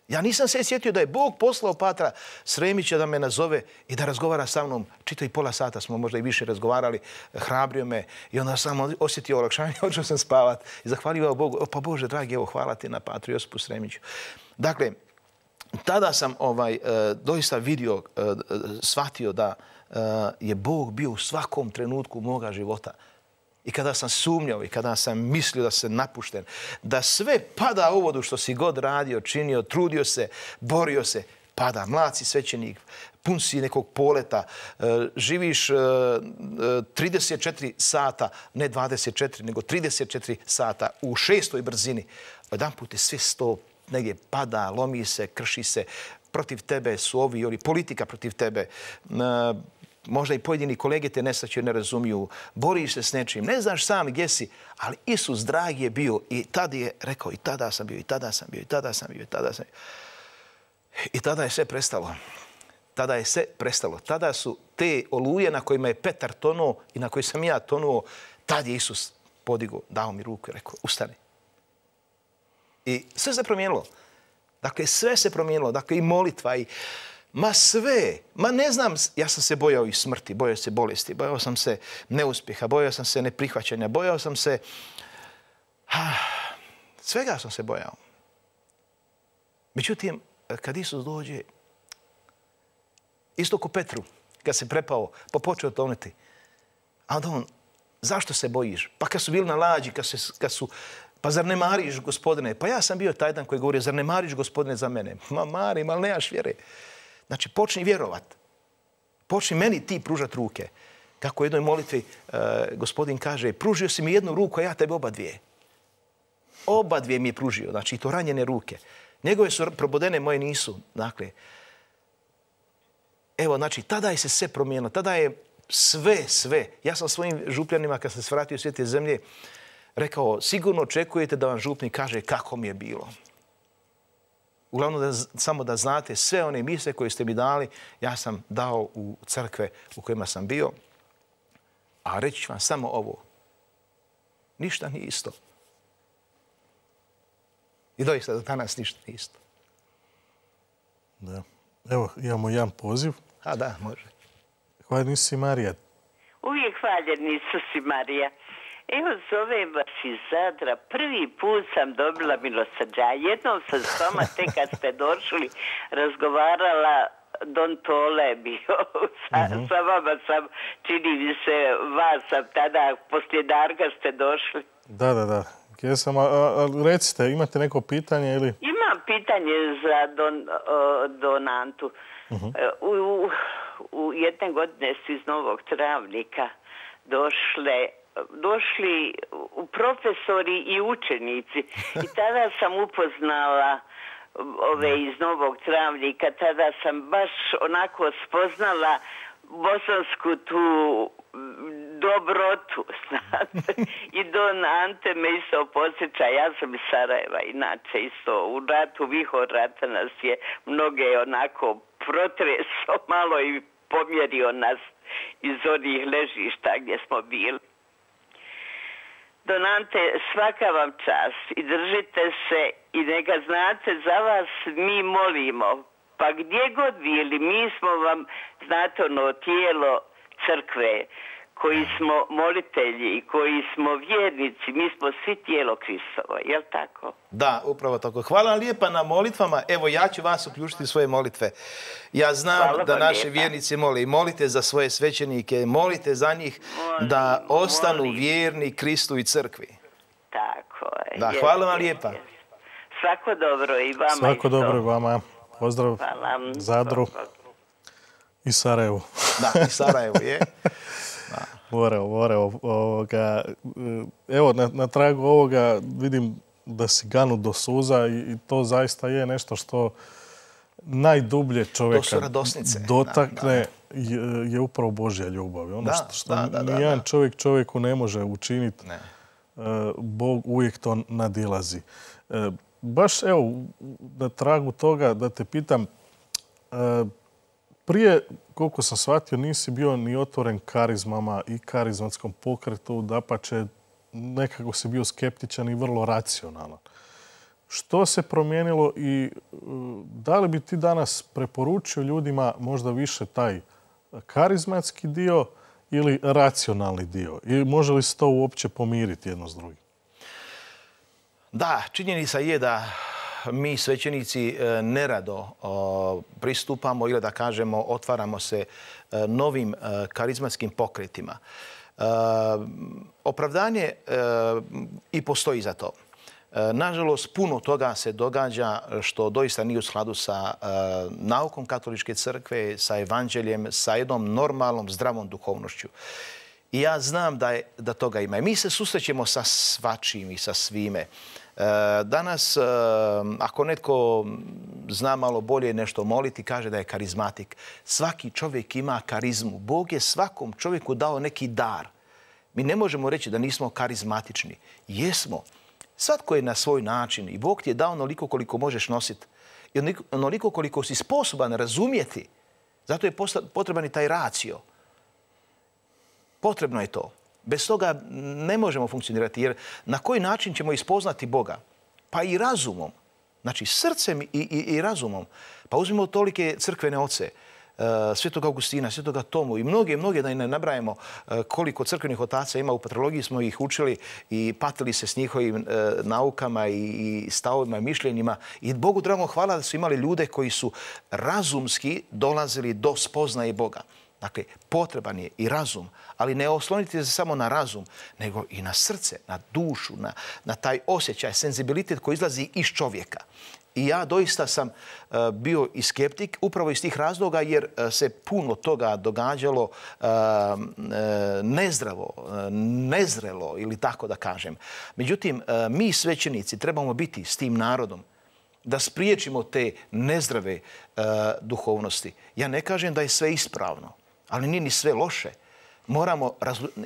Ja nisam se sjetio da je Bog poslao patra Sremića da me nazove i da razgovara sa mnom. Čito i pola sata smo možda i više razgovarali, hrabrio me i onda sam osjetio olakšanje, hoću sam spavat i zahvalio Bogu. Pa Bože, dragi, evo, hvala ti na patru Josipu Sremiću. Dakle, tada sam doista vidio, shvatio da je Bog bio u svakom trenutku moga života. I kada sam sumnjao i kada sam mislio da se napušten, da sve pada u vodu što si god radio, činio, trudio se, borio se, pada. Mlad si svećenik, pun si nekog poleta, živiš 34 sata, ne 24, nego 34 sata u 6. brzini. Jedan put je sve sto negdje pada, lomi se, krši se, protiv tebe su ovi, ili politika protiv tebe, možda i pojedini kolege te nesaćaju, ne razumiju, boriš se s nečim, ne znaš sam gdje si, ali Isus dragi je bio i tada je rekao i tada sam bio, i tada sam bio, i tada sam bio, i tada sam bio. I tada je sve prestalo. Tada je sve prestalo. Tada su te oluje na kojima je Petar tonuo i na koji sam ja tonuo, tad je Isus podigao, dao mi ruku i rekao, ustani. I sve se promijenilo. Dakle, sve se promijenilo. Dakle, i molitva i ma sve, ma ne znam, ja sam se bojao i smrti, bojao se bolesti, bojao sam se neuspjeha, bojao sam se neprihvaćanja, bojao sam se, svega sam se bojao. Međutim, kad Isus dođe, isto ko Petru, kad se prepao, pa počeo tonuti, a onda on Zašto se bojiš? Pa kad su bili na lađi, pa zar ne mariš, Gospodine? Pa ja sam bio taj dan koji govorio, zar ne mariš, Gospodine, za mene? Ma marim, ali nemaš vjere. Znači, počni vjerovat. Počni meni ti pružat ruke. Kako u jednoj molitvi Gospodin kaže, pružio si mi jednu ruku, a ja tebi oba dvije. Oba dvije mi je pružio, znači i to ranjene ruke. Njegove su probodene, moje nisu. Dakle, evo, znači, tada je se sve promijenilo. Tada je sve. Ja sam svojim župljanima, kad sam se vratio u svijete zemlje, rekao, sigurno očekujete da vam župnik kaže kako mi je bilo. Uglavnom, samo da znate, sve one mise koje ste mi dali, ja sam dao u crkve u kojima sam bio. A reći ću vam samo ovo. Ništa nije isto. I doista do danas ništa nije isto. Da. Evo, imamo jedan poziv. A da, može. Hvaljen si Marija. Uvijek hvaljen Isus i Marija. Evo, zovem vas iz Zadra. Prvi put sam dobila milosrđa. Jednom sam s vama, tek kad ste došli, razgovarala, Don Tole bio. Sa vama sam, čini mi se, vas sam tada, poslije Darga ste došli. Da. Jesam, recite, imate neko pitanje ili? Imam pitanje za Don Antu. U jedne godine su iz Novog Travnika došli profesori i učenici. I tada sam upoznala ove iz Novog Travnika. Tada sam baš onako spoznala bosansku tu dobrotu, znate. I Don Ante me isto podsjeća, ja sam iz Sarajeva, inače isto u ratu, vihor rata nas je mnoge onako protreso malo i pomjerio nas iz onih ležišta gdje smo bili. Don Ante, svaka vam čast i držite se i neka znate, za vas mi molimo. Pa gdje god bili, mi smo vam, znate, ono tijelo crkve, koji smo molitelji i koji smo vjernici, mi smo svi tijelo Kristovo, jel tako? Da, upravo tako. Hvala vam lijepa na molitvama. Evo, ja ću vas uključiti u svoje molitve. Ja znam da naši vjernici mole i molite za svoje svećenike, molite za njih da ostanu vjerni Kristu i crkvi. Tako je. Da, hvala vam lijepa. Svako dobro i vama isto. Svako dobro i vama. Pozdrav Zadru i Sarajevu. Da, i Sarajevu je. Voreo. Evo, na tragu ovoga vidim da si ganut do suza i to zaista je nešto što najdublje čovjeka dotakne je upravo Božja ljubav. Ono što nijedan čovjek čovjeku ne može učiniti, Bog uvijek to nadilazi. Baš evo, na tragu toga da te pitam, prije, koliko sam shvatio, nisi bio ni otvoren karizmama i karizmatskom pokretu, dapače, nekako si bio skeptičan i vrlo racionalan. Što se promijenilo i da li bi ti danas preporučio ljudima možda više taj karizmatski dio ili racionalni dio? I može li se to uopće pomiriti jedno s drugim? Da, činjenica je da mi svećenici nerado pristupamo ili da kažemo otvaramo se novim karizmatskim pokretima. Opravdanje i postoji za to. Nažalost, puno toga se događa što doista nije u skladu sa naukom katoličke crkve, sa evanđeljem, sa jednom normalnom, zdravom duhovnošću. I ja znam da toga ima. I mi se susrećemo sa svačim i sa svime. Danas, ako netko zna malo bolje nešto moliti, kaže da je karizmatik. Svaki čovjek ima karizmu. Bog je svakom čovjeku dao neki dar. Mi ne možemo reći da nismo karizmatični. Jesmo. Svatko je na svoj način i Bog ti je dao onoliko koliko možeš nositi. I onoliko koliko si sposoban razumjeti. Zato je potreban i taj racio. Potrebno je to. Bez toga ne možemo funkcionirati, jer na koji način ćemo ispoznati Boga? Pa i razumom. Znači, srcem i razumom. Pa uzmimo tolike crkvene oce, Svetog Augustina, Svetoga Tomu i mnoge da i ne nabrajemo koliko crkvenih otaca ima. U patrologiji smo ih učili i patili se s njihovim naukama i stavovima i mišljenjima. I Bogu dragom hvala da su imali ljude koji su razumski dolazili do spoznaje Boga. Dakle, potreban je i razum, ali ne oslonite se samo na razum, nego i na srce, na dušu, na taj osjećaj, senzibilitet koji izlazi iz čovjeka. I ja doista sam bio i skeptik upravo iz tih razloga jer se puno toga događalo nezdravo, nezrelo ili tako da kažem. Međutim, mi svećenici trebamo biti s tim narodom da spriječimo te nezdrave duhovnosti. Ja ne kažem da je sve ispravno, ali nije ni sve loše.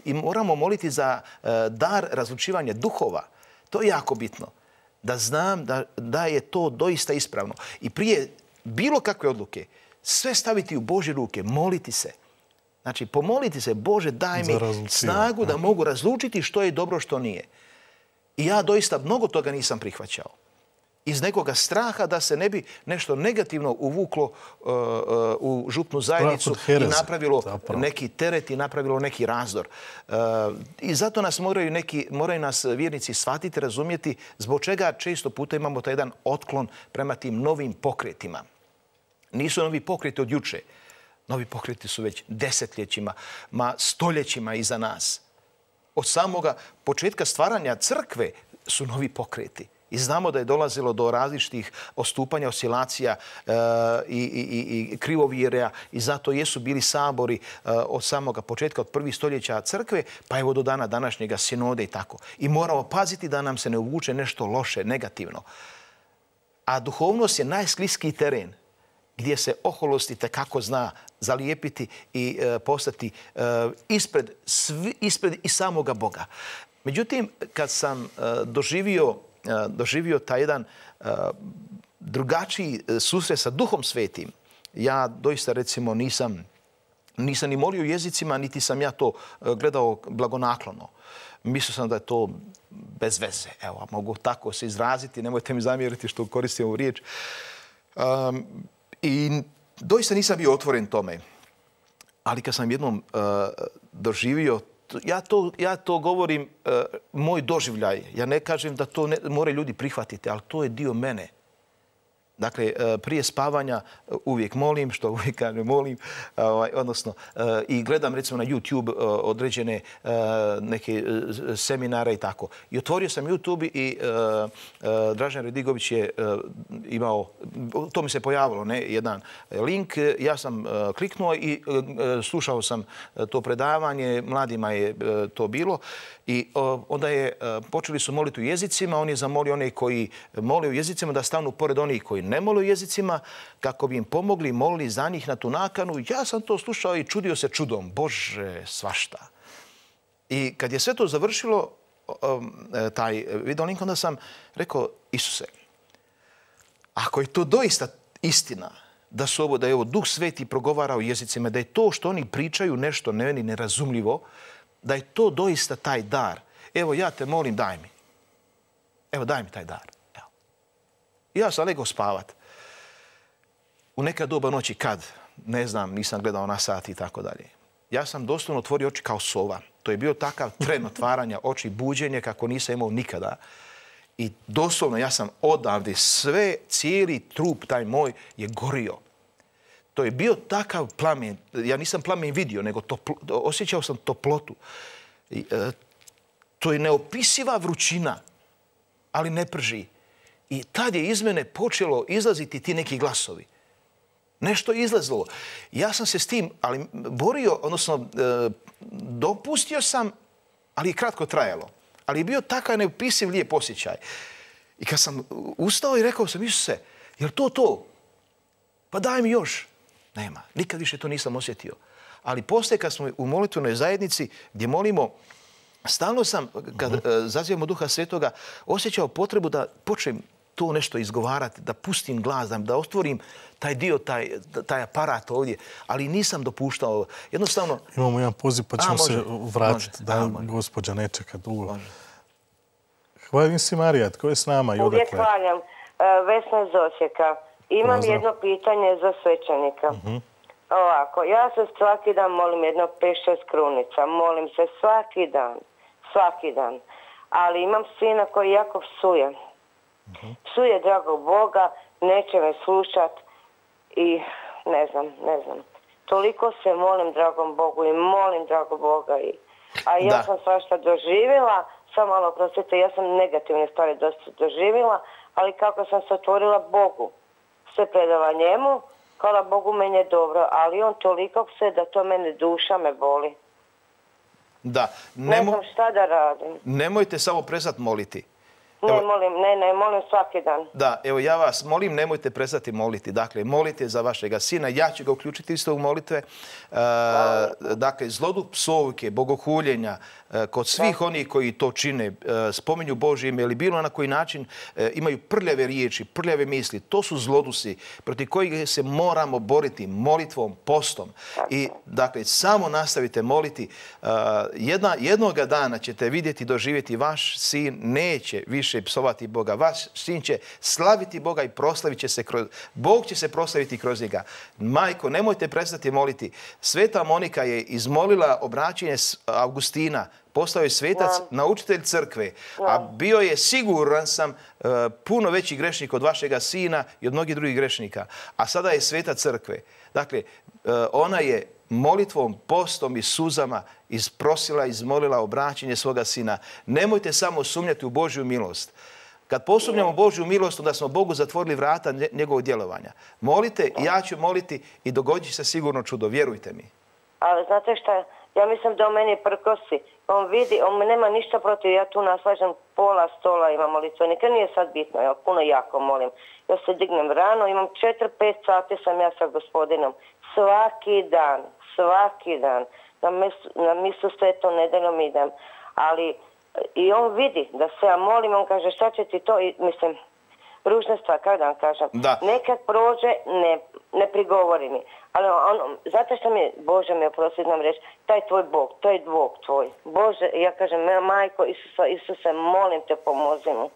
Moramo moliti za dar razlučivanja duhova. To je jako bitno. Da znam da je to doista ispravno. I prije bilo kakve odluke, sve staviti u Božje ruke, moliti se. Znači, pomoliti se, Bože, daj mi snagu da mogu razlučiti što je dobro, što nije. I ja doista mnogo toga nisam prihvaćao. Iz nekoga straha da se ne bi nešto negativno uvuklo u župnu zajednicu i napravilo neki teret i napravilo neki razdor. I zato nas moraju nas vjernici shvatiti, razumjeti zbog čega često puta imamo taj jedan otklon prema tim novim pokretima. Nisu novi pokreti od juče. Novi pokreti su već desetljećima, stoljećima iza nas. Od samoga početka stvaranja crkve su novi pokreti. I znamo da je dolazilo do različitih odstupanja, oscilacija i krivovjereja i zato jesu bili sabori od samoga početka, od prvih stoljeća crkve, pa evo do dana današnjega sinode i tako. I moramo paziti da nam se ne uvuče nešto loše, negativno. A duhovnost je najskliskiji teren gdje se oholost itekako zna zalijepiti i postati ispred i samoga Boga. Međutim, kad sam doživio taj jedan drugačiji susret sa Duhom Svetim, ja doista recimo nisam ni molio jezicima, niti sam ja to gledao blagonaklono. Mislio sam da je to bez veze. Evo, mogu tako se izraziti, nemojte mi zamjeriti što koristim ovu riječ. I doista nisam bio otvoren tome. Ali kad sam jednom doživio, ja to govorim moj doživljaj. Ja ne kažem da to moraju ljudi prihvatiti, ali to je dio mene. Dakle, prije spavanja uvijek molim, što uvijek kažem molim, odnosno i gledam recimo na YouTube određene neke seminare i tako. I otvorio sam YouTube i Dražen Redigović je imao, to mi se pojavilo, jedan link, ja sam kliknuo i slušao sam to predavanje, mladima je to bilo i onda počeli su moliti u jezicima, on je zamolio one koji mole u jezicima da stanu pored onih koji ne mole u jezicima, kako bi im pomogli, molili za njih na tu nakanu. Ja sam to slušao i čudio se čudom. Bože, svašta. I kad je sve to završilo, taj video link, onda sam rekao, Isuse, ako je to doista istina, da je ovo Duh Sveti progovara u jezicima, da je to što oni pričaju nešto meni nerazumljivo, da je to doista taj dar. Evo, ja te molim, daj mi. Evo, daj mi taj dar. Ja sam legao spavat. U neka doba noći kad, ne znam, nisam gledao na sat i tako dalje. Ja sam doslovno otvorio oči kao sova. To je bio takav tren otvaranja oči, buđenje kako nisam imao nikada. I doslovno ja sam odavde cijeli trup taj moj je gorio. To je bio takav plamen. Ja nisam plamen vidio, nego osjećao sam toplotu. To je neopisiva vrućina, ali ne prži. I tad je iz mene počelo izlaziti ti neki glasovi. Nešto je izlazilo. Ja sam se s tim borio, odnosno dopustio sam, ali je kratko trajalo. Ali je bio takav neopisiv lijep osjećaj. I kad sam ustao i rekao sam, Isuse, je li to? Pa daj mi još. Nema. Nikad više to nisam osjetio. Ali poslije kad smo u molitvenoj zajednici gdje molimo, stalno sam, kad zazivamo Duha Svetoga, osjećao potrebu da počnem to nešto izgovarati, da pustim glas, da otvorim taj dio, taj aparat ovdje, ali nisam dopuštao. Jednostavno... Imamo jedan poziv pa ćemo se vratiti, da gospođa ne čeka dugo. Hvalim si Marija, tko je s nama i odakle? Uvijek hvaljam. Vesna iz Osijeka. Imam jedno pitanje za svećenika. Ovako, ja se svaki dan molim jedno 5-6 krunica. Molim se svaki dan. Ali imam sina koji jako psuje. Psuje dragog Boga, neće me slušat i ne znam. To toliko se molim dragom Bogu i molim dragog Boga. A ja sam svašta doživjela, samo malo prosite, ja sam negativne stvari dosta doživjela, ali kako sam se otvorila Bogu, sve predala njemu, hvala Bogu meni je dobro, ali on toliko se da to mene duša me boli. Da. Ne znam šta da radim. Nemojte samo prestati moliti. Ne, molim svaki dan. Da, evo ja vas molim, nemojte prestati moliti. Dakle, molite za vašega sina. Ja ću ga uključiti isto u molitve. Dakle, zloduh psovke, bogohuljenja, kod svih onih koji to čine, spominju Božje ime ili bilo na koji način imaju prljave riječi, prljave misli. To su zlodusi protiv kojih se moramo boriti molitvom, postom. I dakle, samo nastavite moliti. Jednoga dana ćete vidjeti, doživjeti, vaš sin neće više psovati Boga. Vaš sin će slaviti Boga i proslavit će se kroz... Bog će se proslaviti kroz njega. Majko, nemojte prestati moliti. Sveta Monika je izmolila obraćenje Augustina. Postao je svetac, naučitelj crkve, a bio je, siguran sam, puno veći grešnik od vašega sina i od mnogih drugih grešnika. A sada je sveta crkve. Dakle, ona je molitvom, postom i suzama isprosila, izmolila obraćenje svoga sina. Nemojte samo sumnjati u Božju milost. Kad posumnjamo Božju milost, onda smo Bogu zatvorili vrata njegovog djelovanja. Molite, ja ću moliti i dogodit će se sigurno čudo, vjerujte mi. Ali znate šta, ja mislim da on meni prkosi. On vidi, on nema ništa protiv, ja tu naslažem pola stola imam molitvenika, nije sad bitno, ja puno jako molim. Ja se dignem rano, imam 4-5 sati sam ja sa Gospodinom. Svaki dan. Na misu svetom nedeljom idem. Ali i on vidi da se ja molim, on kaže šta će ti to, i mislim, ružne stvari, kako da vam kažem. Nekad prođe, ne prigovori mi. Ali znate što mi, Bože mi oprosti, znam reći, taj tvoj Bog, to je Bog tvoj. Bože, ja kažem, majko Isuse, molim te, pomozi mu.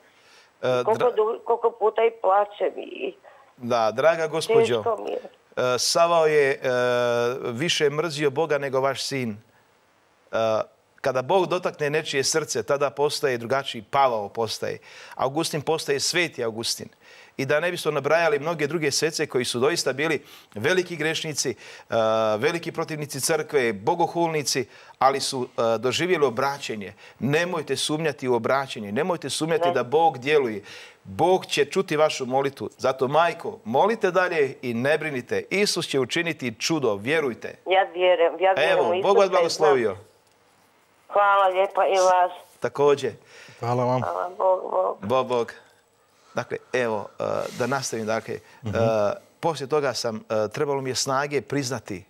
Koliko puta i plaće mi. Da, draga gospođo, Savao je više mrzio Boga nego vaš sin. Kada Bog dotakne nečije srce, tada postaje drugačiji, Pavao postaje. Augustin postaje sveti Augustin. I da ne bismo nabrajali mnoge druge svece koji su doista bili veliki grešnici, veliki protivnici crkve, bogohulnici, ali su doživjeli obraćenje. Nemojte sumnjati u obraćenje, nemojte sumnjati da Bog djeluje. Bog će čuti vašu molitvu. Zato, majko, molite dalje i ne brinite. Isus će učiniti čudo, vjerujte. Ja vjerujem. Evo, Bog vas blagoslovio. Hvala lijepa i vas. Također. Hvala vam. Hvala, Bog. Dakle, evo, da nastavim. Dakle, poslije toga trebalo mi je snage priznati,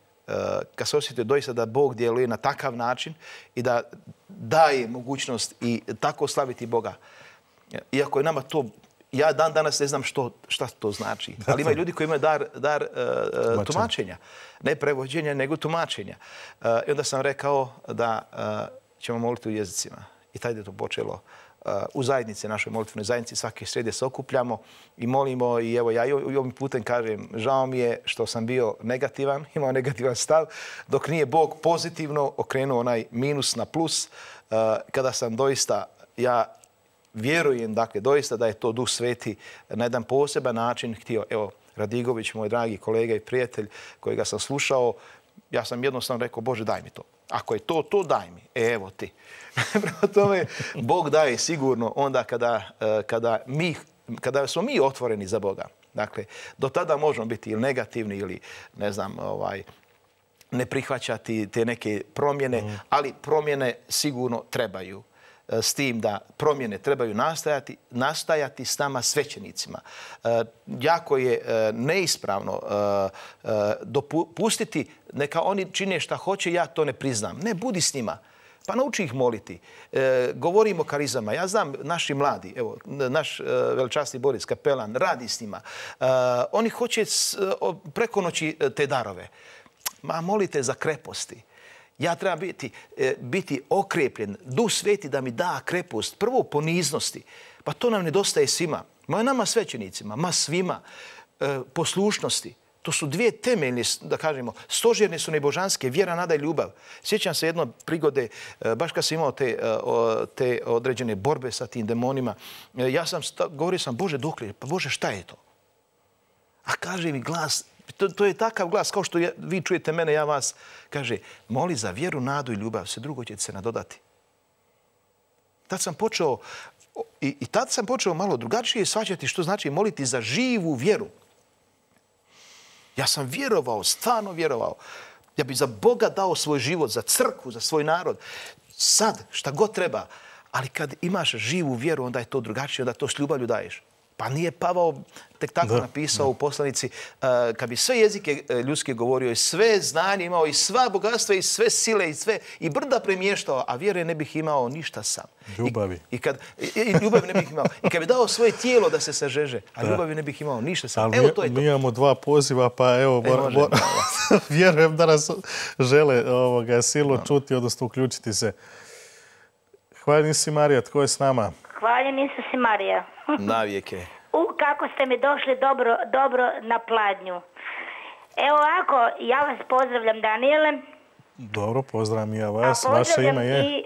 kad se osjetio doista da Bog djeluje na takav način i da daje mogućnost i tako slaviti Boga. Iako je nama to, ja dan danas ne znam šta to znači, ali ima ljudi koji imaju dar tumačenja. Ne prevođenja, nego tumačenja. I onda sam rekao da ćemo moliti u jezicima. I tada je to počelo. U zajednici, našoj molitvenoj zajednici, svake srede se okupljamo i molimo. I evo, ja i ovim putem kažem, žao mi je što sam bio negativan, imao negativan stav, dok nije Bog pozitivno okrenuo onaj minus na plus, kada sam doista, ja vjerujem, dakle, doista da je to Duh Sveti na jedan poseban način htio. Evo, Radigović, moj dragi kolega i prijatelj kojega sam slušao, ja sam jednostavno rekao, Bože, daj mi to. Ako je to daj mi. Evo ti. Prema tome, Bog daje sigurno onda kada smo mi otvoreni za Boga. Dakle, do tada možemo biti ili negativni ili, ne znam, ne prihvaćati te neke promjene, ali promjene sigurno trebaju. S tim da promjene trebaju nastajati s nama svećenicima. Jako je neispravno dopustiti neka oni čine šta hoće, ja to ne priznam. Ne, budi s njima. Pa nauči ih moliti. Govorimo o karizama. Ja znam naši mladi, evo, naš veličasni Boris Kapelan radi s njima. Oni hoće preko noći te darove. Ma molite za kreposti. Ja trebam biti okrepljen, Duh Sveti da mi da krepost, prvo poniznosti. Pa to nam nedostaje svima. Ma nama svećenicima, ma svima. Poslušnosti. To su dvije temeljne, da kažemo, stožerne su nebožanske, vjera, nada i ljubav. Sjećam se jedno prigode, baš kad sam imao te određene borbe sa tim demonima, govorio sam, Bože, dokle? Pa Bože, šta je to? A kaže mi glas, To je takav glas, kao što vi čujete mene, ja vas, kaže, moli za vjeru, nadu i ljubav, sve drugo će se nadodati. Tad sam počeo, i tad sam počeo malo drugačije shvaćati što znači moliti za živu vjeru. Ja sam vjerovao, stvarno vjerovao. Ja bih za Boga dao svoj život, za crkvu, za svoj narod. Sad, šta god treba. Ali kad imaš živu vjeru, onda je to drugačije, onda to s ljubavlju daješ. Pa nije Pavao tek tako napisao u poslanici, kad bi sve jezike ljudske govorio i sve znanje imao i sva bogatstva i sve sile i brda premještao, a vjere ne bih imao ništa sam. Ljubavi. I ljubavi ne bih imao. I kad bi dao svoje tijelo da se sažeže, a ljubavi ne bih imao ništa sam. Evo to je to. Mi imamo 2 poziva, pa evo, vjerujem da nas žele silno čuti, odnosno uključiti se. Hvala si Marija, tko je s nama? Hvaljen Isus i Marija. Navijeke. Kako ste mi došli dobro na pladnju. Evo ovako, ja vas pozdravljam, Danijele. Dobro, pozdravljam i ja vas. Vaše ime je? I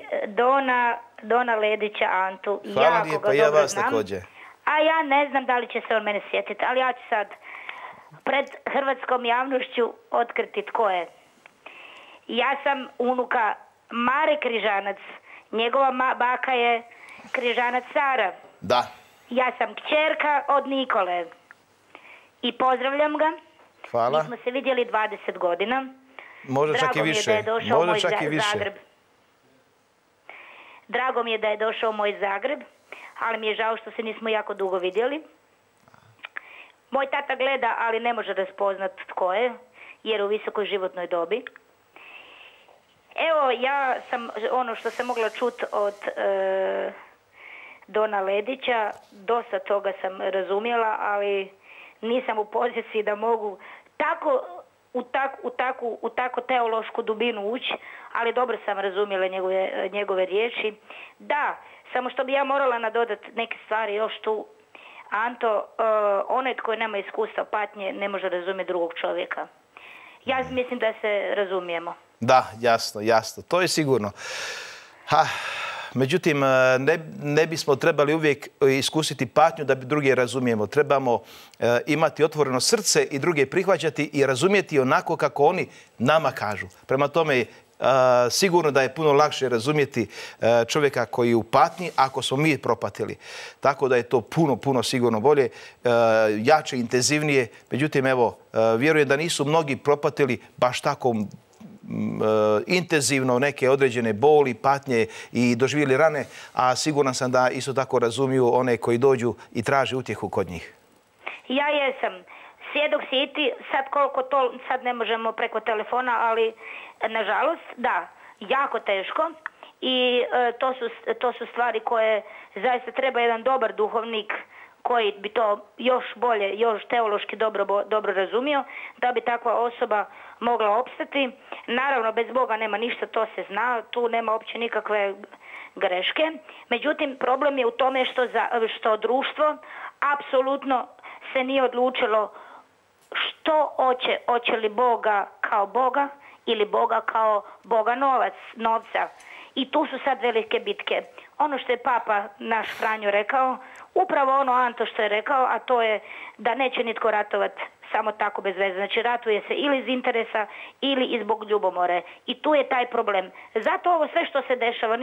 Dona Ledića Antu. Hvala lijepa, ja vas također. A ja ne znam da li će se on mene sjetiti, ali ja ću sad pred hrvatskom javnošću otkriti tko je. Ja sam unuka Mare Križanac. Njegova baka je Križanac Sara. Da. Ja sam kćerka od Nikole. I pozdravljam ga. Hvala. Mi smo se vidjeli 20 godina. Možda čak i više. Možda čak i više. Zagreb. Drago mi je da je došao u moj Zagreb, ali mi je žao što se nismo jako dugo vidjeli. Moj tata gleda, ali ne može raspoznat tko je, jer u visokoj životnoj dobi. Evo, ja sam, ono što sam mogla čuti od Dona Ledića, dosta toga sam razumjela, ali nisam u poziciji da mogu u tako teološku dubinu ući, ali dobro sam razumjela njegove riječi. Da, samo što bi ja morala nadodati neke stvari još tu. Anto, onaj tko nema iskustva patnje ne može razumjeti drugog čovjeka. Ja mislim da se razumijemo. Da, jasno. To je sigurno. Međutim, ne bismo trebali uvijek iskusiti patnju da bi druge razumijemo. Trebamo imati otvoreno srce i druge prihvaćati i razumjeti onako kako oni nama kažu. Prema tome, sigurno da je puno lakše razumjeti čovjeka koji je u patnji ako smo mi propatili. Tako da je to puno sigurno bolje, jače, intenzivnije. Međutim, evo, vjerujem da nisu mnogi propatili baš tako intenzivno neke određene boli, patnje i doživjeli rane, a siguran sam da isto tako razumiju one koji dođu i traže utjehu kod njih. Ja jesam. Svjedok si i ti, sad koliko to, sad ne možemo preko telefona, ali nažalost, da, jako teško i to su stvari koje zaista treba jedan dobar duhovnik koji bi to još bolje, još teološki dobro razumio, da bi takva osoba mogla opstati. Naravno, bez Boga nema ništa, to se zna, tu nema uopće nikakve greške. Međutim, problem je u tome što društvo apsolutno se nije odlučilo što hoće li Boga kao Boga ili Boga kao Boga novca. I tu su sad velike bitke. Ono što je Papa naš Franjo rekao, upravo ono Anto što je rekao, a to je da neće nitko ratovati samo tako bez veze. Znači ratuje se ili iz interesa ili i zbog ljubomore. I tu je taj problem. Zato ovo sve što se dešava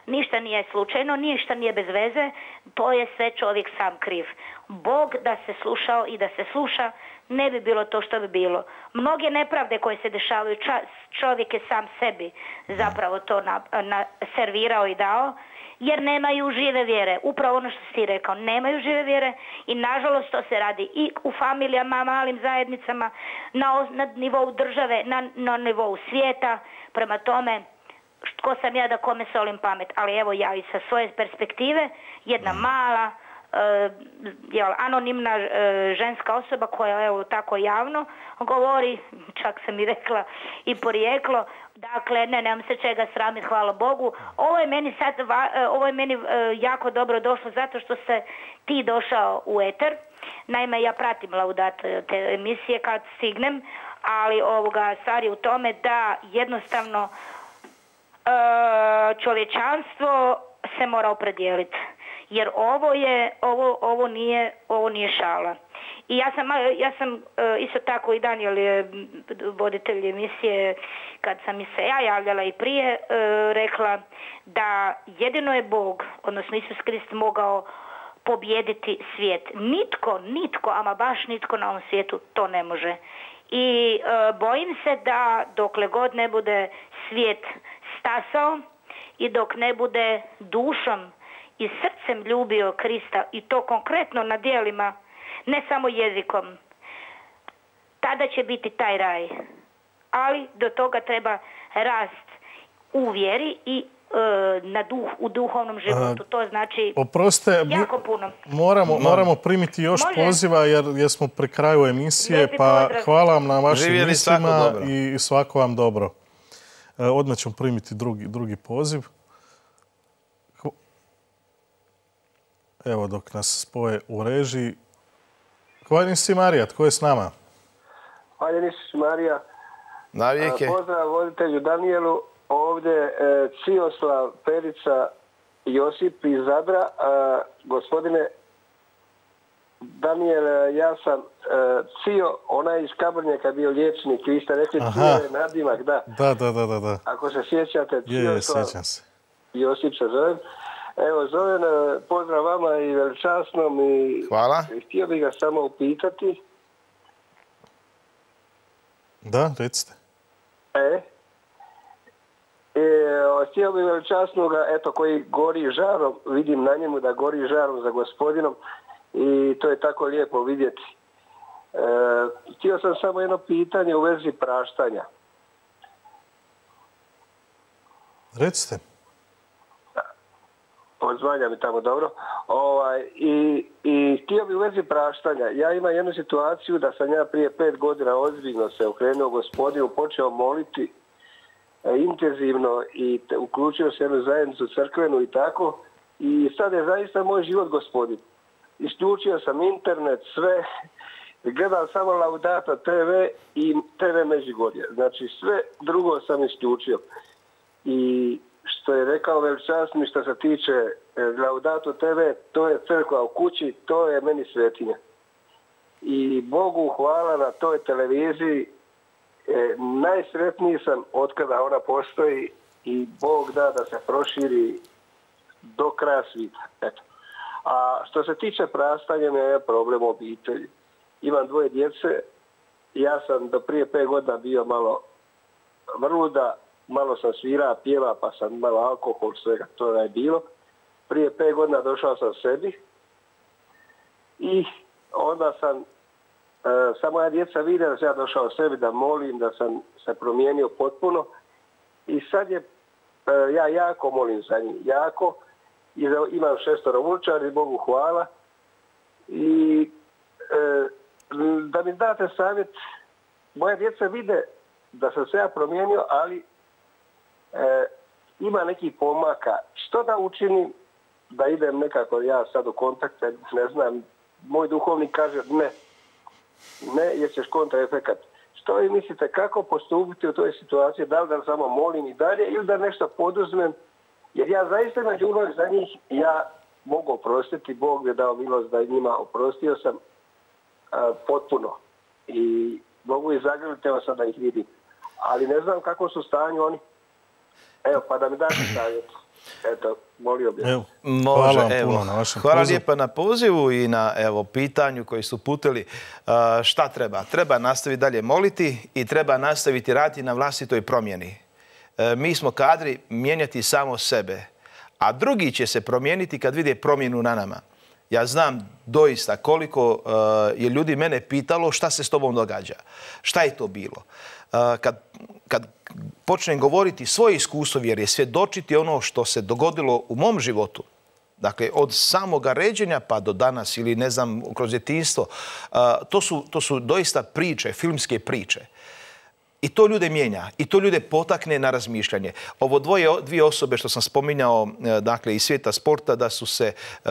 ništa nije slučajno, ništa nije bez veze, to je sve čovjek sam kriv. Bog da se slušao i da se sluša, ne bi bilo to što bi bilo. Mnoge nepravde koje se dešavaju, čovjek je sam sebi zapravo to servirao i dao, jer nemaju žive vjere. Upravo ono što si rekao, nemaju žive vjere i nažalost to se radi i u familijama, malim zajednicama, na nivou države, na nivou svijeta. Prema tome, tko sam ja da kome solim pamet? Ali evo ja i sa svoje perspektive, jedna mala, anonimna ženska osoba koja evo tako javno govori, čak sam i rekla i porijeklo, dakle nemam se čega sramiti, hvala Bogu. Ovo je meni jako dobro došlo zato što se ti došao u eter. Naime, ja pratim Laudat te emisije kad stignem, ali stvar je u tome da jednostavno čovječanstvo se mora opredijeliti. Jer ovo nije šala. I ja sam isto tako i Daniel je voditelj emisije, kad sam mi se ja javljala i prije, rekla da jedino je Bog, odnosno Isus Krist, mogao pobijediti svijet. Nitko, ama baš nitko na ovom svijetu to ne može. I bojim se da dokle god ne bude svijet stasao i dok ne bude dušom i srcem ljubio Krista, i to konkretno na djelima, ne samo jezikom, tada će biti taj raj. Ali do toga treba rast u vjeri i u duhovnom životu. To znači jako puno. Moramo primiti još poziva jer smo pri kraju emisije. Lijepi pa pozdrav. hvala vam na vašim Živjeli, mislima svako dobro. i svako vam dobro. Odmah ćemo primiti drugi poziv. Evo dok nas spoje u režiji. Hvaljen si Marija, tko je s nama? Hvaljen si Marija. Navijeke. Pozdrav voditelju Danielu. Ovdje Cioslav Perica Josip iz Zadra. Gospodine Daniel, ja sam Cio, onaj iz Kabrnjaka bio liječnik. Vi ste rekli Cio je nadimak, da. Da. Ako se sjećate, Cioslav sjećam se. Josip se zovem. Evo, zovem, pozdrav vama i veličasnom. Hvala. Htio bih ga samo upitati. Da, recite. Htio bih veličasnoga, eto, koji gori žarom, vidim na njemu da gori žarom za Gospodinom i to je tako lijepo vidjeti. Htio sam samo jedno pitanje u vezi praštanja. Recite. Odzvanja mi tamo dobro. I htio bih u vezi praštanja. Ja imam jednu situaciju da sam ja prije 5 godina ozbiljno se okrenuo Gospodinu, počeo moliti intenzivno i uključio se jednu zajednicu crkvenu i tako. I sad je zaista moj život Gospodin. Isključio sam internet, sve. Gledam samo Laudato TV i TV Međugorje. Znači sve drugo sam isključio. I što je rekao veličasni što se tiče Laudato TV, to je crkva u kući, to je meni svetinja. I Bogu hvala na toj televiziji. Najsretniji sam otkada ona postoji i Bog da se proširi do kraja svita. Eto. A što se tiče praštanja, mi je problem obitelji. Imam 2 djece. Ja sam do prije 5 godina bio malo vrluda, malo sam svirao, pjeva, pa sam malo alkohol, svega to je bilo. Prije 5 godina došao sam sebi i onda sam, samo moja djeca vide da sam ja došao sebi, da molim, da sam se promijenio potpuno. I sad je, ja jako molim za njih, jako. I imam 6 unučari, Bogu hvala. I da mi date savjet, moje djeca vide da sam se ja promijenio, ali ima nekih pomaka. Što da učinim da idem nekako ja sad u kontakte, ne znam, moj duhovnik kaže ne, jer ćeš kontraefekat. Što vi mislite, kako postupiti u toj situaciji, da li da samo molim i dalje ili da nešto poduzmem, jer ja zaista imam ljubav za njih, ja mogu oprostiti, Bog mi je dao milost da njima oprostio sam potpuno i mogu i zagrliti, evo sad da ih vidim. Ali ne znam kako su u stanju oni. Evo, pa da mi date savjet. Eto, molio bih. Hvala lijepa na pozivu i na pitanju koji su uputili. Šta treba? Treba nastaviti dalje moliti i treba nastaviti raditi na vlastitoj promjeni. Mi smo kadri mijenjati samo sebe, a drugi će se promijeniti kad vide promjenu na nama. Ja znam doista koliko je ljudi mene pitalo šta se s tobom događa. Šta je to bilo? Kad počnem govoriti svoje iskustvo vjere, svjedočiti ono što se dogodilo u mom životu, dakle od samoga ređenja pa do danas ili ne znam kroz djetinjstvo, to su doista priče, filmske priče. I to ljude mijenja, i to ljude potakne na razmišljanje. Ovo 2 osobe što sam spominjao, dakle, iz svijeta sporta,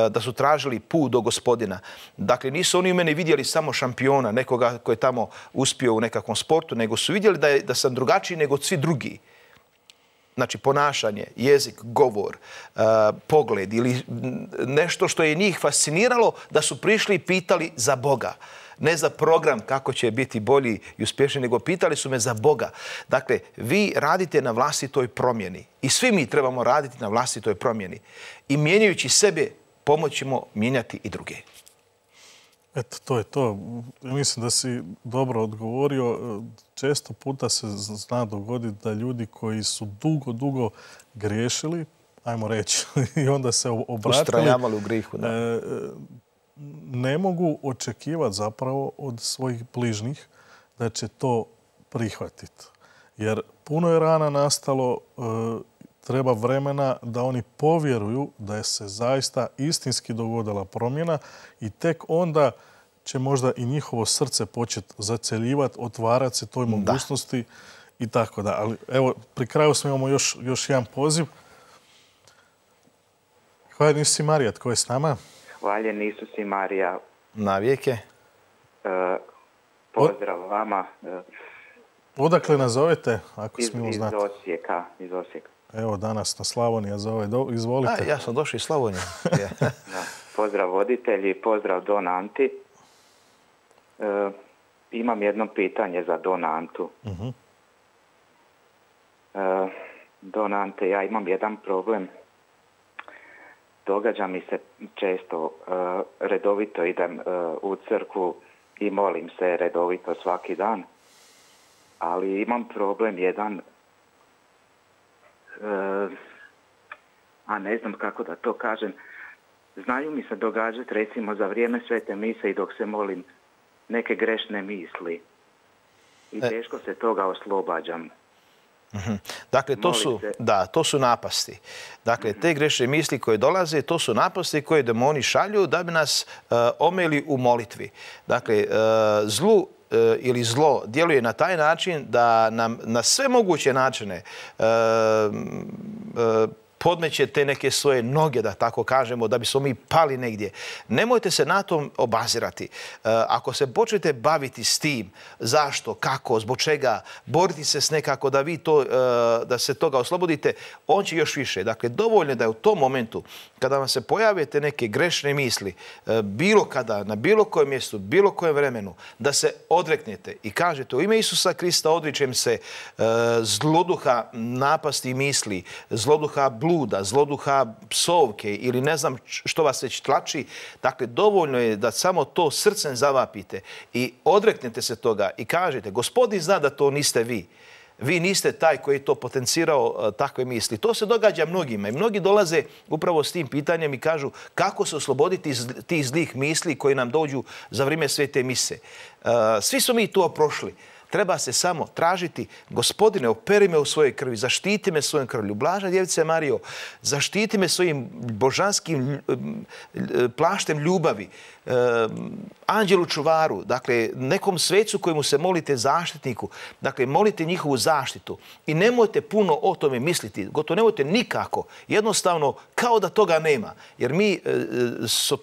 da su tražili put do Gospodina. Dakle, nisu oni u mene vidjeli samo šampiona, nekoga koji je tamo uspio u nekakvom sportu, nego su vidjeli da sam drugačiji nego svi drugi. znači ponašanje, jezik, govor, pogled ili nešto što je njih fasciniralo, da su prišli i pitali za Boga. Ne za program kako će biti bolji i uspješniji, nego pitali su me za Boga. Dakle, vi radite na vlastitoj promjeni i svi mi trebamo raditi na vlastitoj promjeni. I mijenjajući sebe, pomoćemo mijenjati i druge. Eto, to je to. Mislim da si dobro odgovorio. Često puta se zna dogoditi da ljudi koji su dugo griješili, ajmo reći, i onda se obratili, ustrajavali u grihu, da. Ne mogu očekivati zapravo od svojih bližnjih da će to prihvatiti. Jer puno je rana nastalo, treba vremena da oni povjeruju da je se zaista istinski dogodila promjena i tek onda će možda i njihovo srce početi zaceljivati, otvarati se toj mogućnosti i tako da. Ali evo, pri kraju smo imamo još jedan poziv. Hvala, Isus i Marija, tko je s nama? Hvaljen Isus i Marija. Na vijeke. Pozdrav vama. Odakle nazovete, ako smijemo znati? Iz Osijeka. Evo, danas na Slavonija zove. Izvolite. Ja sam došao iz Slavonije. Pozdrav voditelji, pozdrav Don Anti. Imam jedno pitanje za Don Antu. Don Ante, ja imam jedan problem. Događa mi se često, redovito idem u crkvu i molim se redovito svaki dan, ali imam problem jedan, a ne znam kako da to kažem. Znaju mi se događati recimo za vrijeme svete mise i dok se molim neke grešne misli i teško se toga oslobađam. Dakle, to su napasti. Dakle, te grešne misli koje dolaze, to su napasti koje demoni šalju da bi nas omeli u molitvi. Dakle, zlu ili zlo djeluje na taj način da nam na sve moguće načine podmeće te neke svoje noge, da tako kažemo, da bismo mi pali negdje. Nemojte se na tom obazirati. Ako se počnete baviti s tim, zašto, kako, zbog čega, boriti se s nekako da vi to, da se toga oslobodite, on će još više. Dakle, dovoljno je da je u tom momentu, kada vam se pojavite neke grešne misli, bilo kada, na bilo kojem mjestu, bilo kojem vremenu, da se odreknete i kažete u ime Isusa Krista odričem se zloduha napasti misli, zloduha bluda, zloduha psovke ili ne znam što vas već tlači. Dakle, dovoljno je da samo to srcem zavapite i odreknete se toga i kažete, Gospodin zna da to niste vi. Vi niste taj koji je to potencirao takve misli. To se događa mnogima i mnogi dolaze upravo s tim pitanjem i kažu kako se osloboditi iz tih zlih misli koji nam dođu za vrijeme svete mise. Svi smo mi to prošli. Treba se samo tražiti, Gospodine, operi me u svojoj krvi, zaštiti me svojom krvlju. Blažna djevice Marijo, zaštiti me svojim božanskim plaštem ljubavi, anđelu čuvaru, dakle, nekom svecu kojemu se molite zaštitniku, dakle, molite njihovu zaštitu i nemojte puno o tome misliti, gotovo nemojte nikako, jednostavno kao da toga nema, jer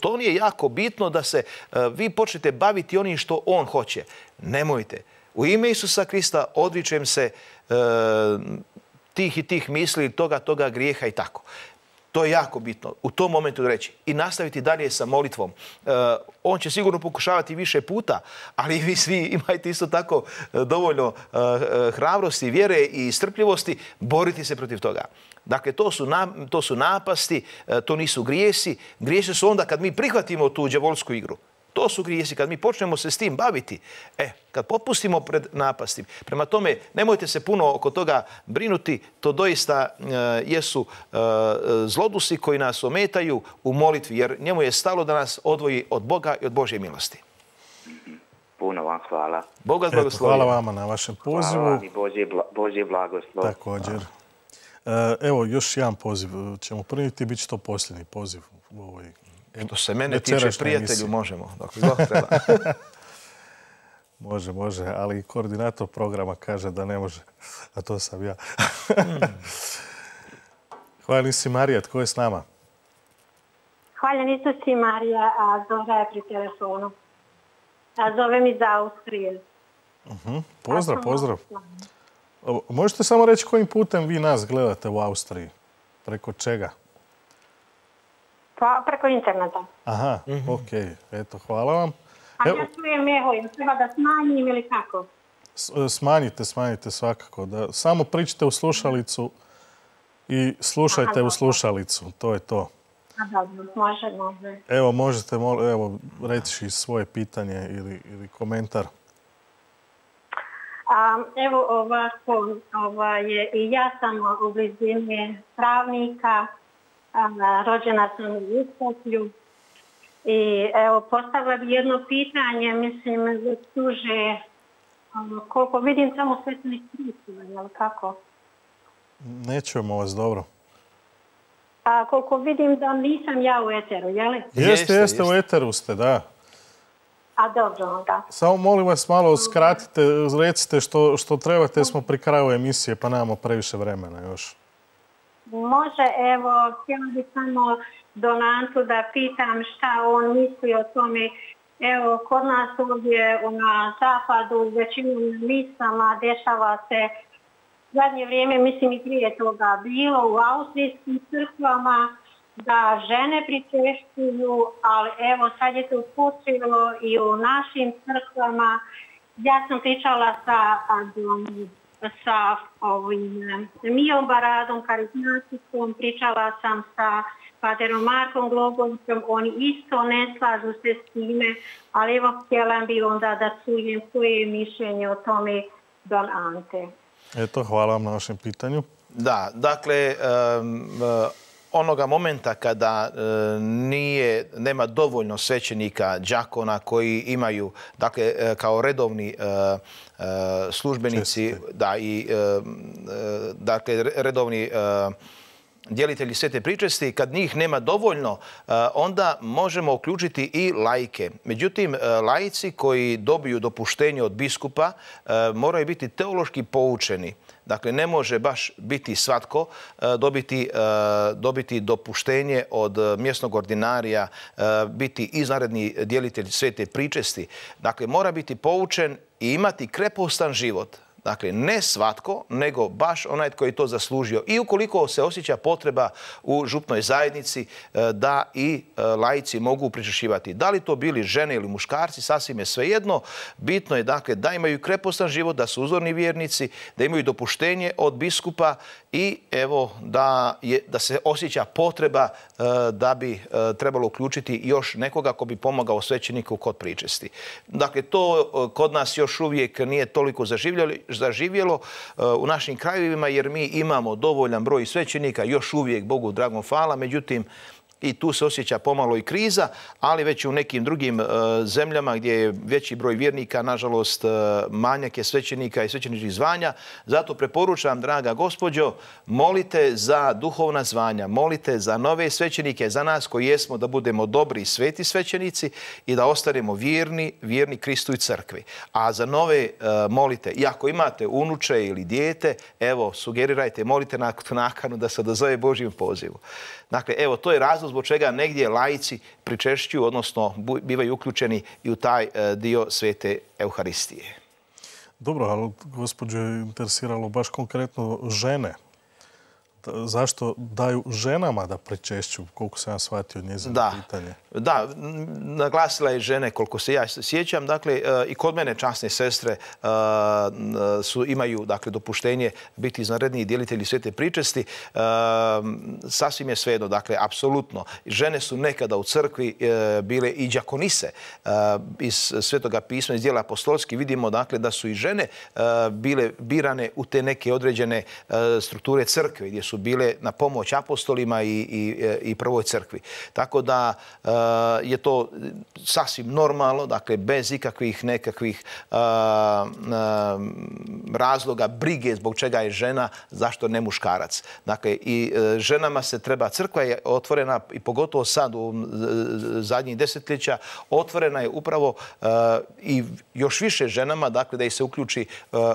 to nije jako bitno da se vi počnete baviti onim što on hoće. Nemojte. U ime Isusa Krista odričem se tih i tih misli, toga grijeha i tako. To je jako bitno u tom momentu reći i nastaviti dalje sa molitvom. On će sigurno pokušavati više puta, ali vi svi imajte isto tako dovoljno hrabrosti, vjere i strpljivosti boriti se protiv toga. Dakle, to su napasti, to nisu grijesi. Grijesi su onda kad mi prihvatimo tu đavolsku igru. To su grijesi kad mi počnemo se s tim baviti. Kad popustimo pred napastim. Prema tome, nemojte se puno oko toga brinuti. To doista jesu zlodusi koji nas ometaju u molitvi, jer njemu je stalo da nas odvoji od Boga i od Božje milosti. Puno vam hvala. Bog vas blagoslovi. Hvala vama na vašem pozivu. Hvala vam i Božji blagoslov. Također. Evo, još jedan poziv ćemo primiti, bit će to posljednji poziv u ovoj. Što se mene tiče, prijatelju, možemo. Dakle, treba. Može, ali koordinator programa kaže da ne može, a to sam ja. Hvala si Marija, tko je s nama? Hvala Isus i Marija, a Zora je pri telefonu. A zovem iz Austrije. Pozdrav. Možete samo reći kojim putem vi nas gledate u Austriji? Preko čega? Pa preko interneta. Aha, okej. Eto, hvala vam. A ja čujem eho, jel treba da smanjim ili kako? Smanjite svakako. Samo pričajte u slušalicu i slušajte u slušalicu. To je to. Dobro, može. Evo, možete reći svoje pitanje ili komentar. Evo ovako, i ja sam u blizini pravnika, rođena sam u Uskoplju i evo postavila bi jedno pitanje, mislim, duže, koliko vidim samo svetlih kristova, jel kako? Ne čujemo vas dobro. A koliko vidim da nisam ja u eteru, jel? Jeste, u eteru ste, da. A dobro, da. Samo molim vas malo skratite, recite što trebate, jer smo pri kraju emisije pa nemamo previše vremena još. Može, evo, htjela bih samo Donatu da pitam šta on misli o tome. Evo, kod nas ovdje na zapadu, većinom listama dešava se zadnje vrijeme, mislim i prije toga bilo u austrijskim crkvama, da žene pričešćuju, ali evo sad je to počelo i u našim crkvama. Ja sam pričala sa Mijom Baradom, karizmatikom, pričala sam sa paterom Markom Glogovićem, oni isto ne slažu se s time, ali evo htjela bi onda da čujem koje je mišljenje o tome Don Ante. Eto, hvala vam na vašem pitanju. Da, dakle, onoga momenta kada nema dovoljno svećenika, đakona koji imaju, dakle, kao redovni službenici, dakle, redovni djelitelji svete pričesti, kad njih nema dovoljno, onda možemo uključiti i laike. Međutim, laici koji dobiju dopuštenje od biskupa moraju biti teološki poučeni. Dakle, ne može baš biti svatko dobiti dopuštenje od mjesnog ordinarija, biti izvanredni djelitelj svete pričesti. Dakle, mora biti poučen i imati krepostan život. Dakle, ne svatko, nego baš onaj koji je to zaslužio. I ukoliko se osjeća potreba u župnoj zajednici da i laici mogu pričešćivati. Da li to bili žene ili muškarci, sasvim je svejedno. Bitno je, dakle, da imaju krepostan život, da su uzorni vjernici, da imaju dopuštenje od biskupa i evo da se osjeća potreba da bi trebalo uključiti još nekoga ko bi pomogao svećeniku kod pričesti. Dakle, to kod nas još uvijek nije toliko zaživjelo u našim krajevima, jer mi imamo dovoljan broj svećenika, još uvijek, Bogu dragom hvala, međutim i tu se osjeća pomalo i kriza, ali već u nekim drugim zemljama gdje je veći broj vjernika, nažalost, manjak je svećenika i svećeničkih zvanja. Zato preporučam, draga gospođo, molite za duhovna zvanja, molite za nove svećenike, za nas koji jesmo, da budemo dobri i sveti svećenici i da ostanemo vjerni Kristu i crkvi. A za nove molite, i ako imate unuče ili dijete, evo, sugerirajte, molite na nakanu da se odazove Božjem pozivu. Dakle, evo, to je razlog zbog čega negdje laici pričešćuju, odnosno bivaju uključeni i u taj dio svete Euharistije. Dobro, ali gospođo je interesiralo baš konkretno žene. Zašto daju ženama da pričešćuju, koliko sam ja shvatio njezino pitanje? Da, naglasila je žene, koliko se ja sjećam. Dakle, i kod mene časne sestre imaju dopuštenje biti izvanredni djelitelji svete pričesti. Sasvim je svejedno, dakle, apsolutno. Žene su nekada u crkvi bile i đakonise. Iz Svetoga pisma, iz dijela apostolskih vidimo, dakle, da su i žene bile birane u te neke određene strukture crkve, gdje su bile na pomoć apostolima i prvoj crkvi. Tako da je to sasvim normalno, dakle, bez ikakvih nekakvih razloga, brige zbog čega je žena, zašto ne muškarac. Dakle, i ženama se treba, crkva je otvorena i pogotovo sad u zadnjih desetljeća, otvorena je upravo i još više ženama, dakle, da ih se uključi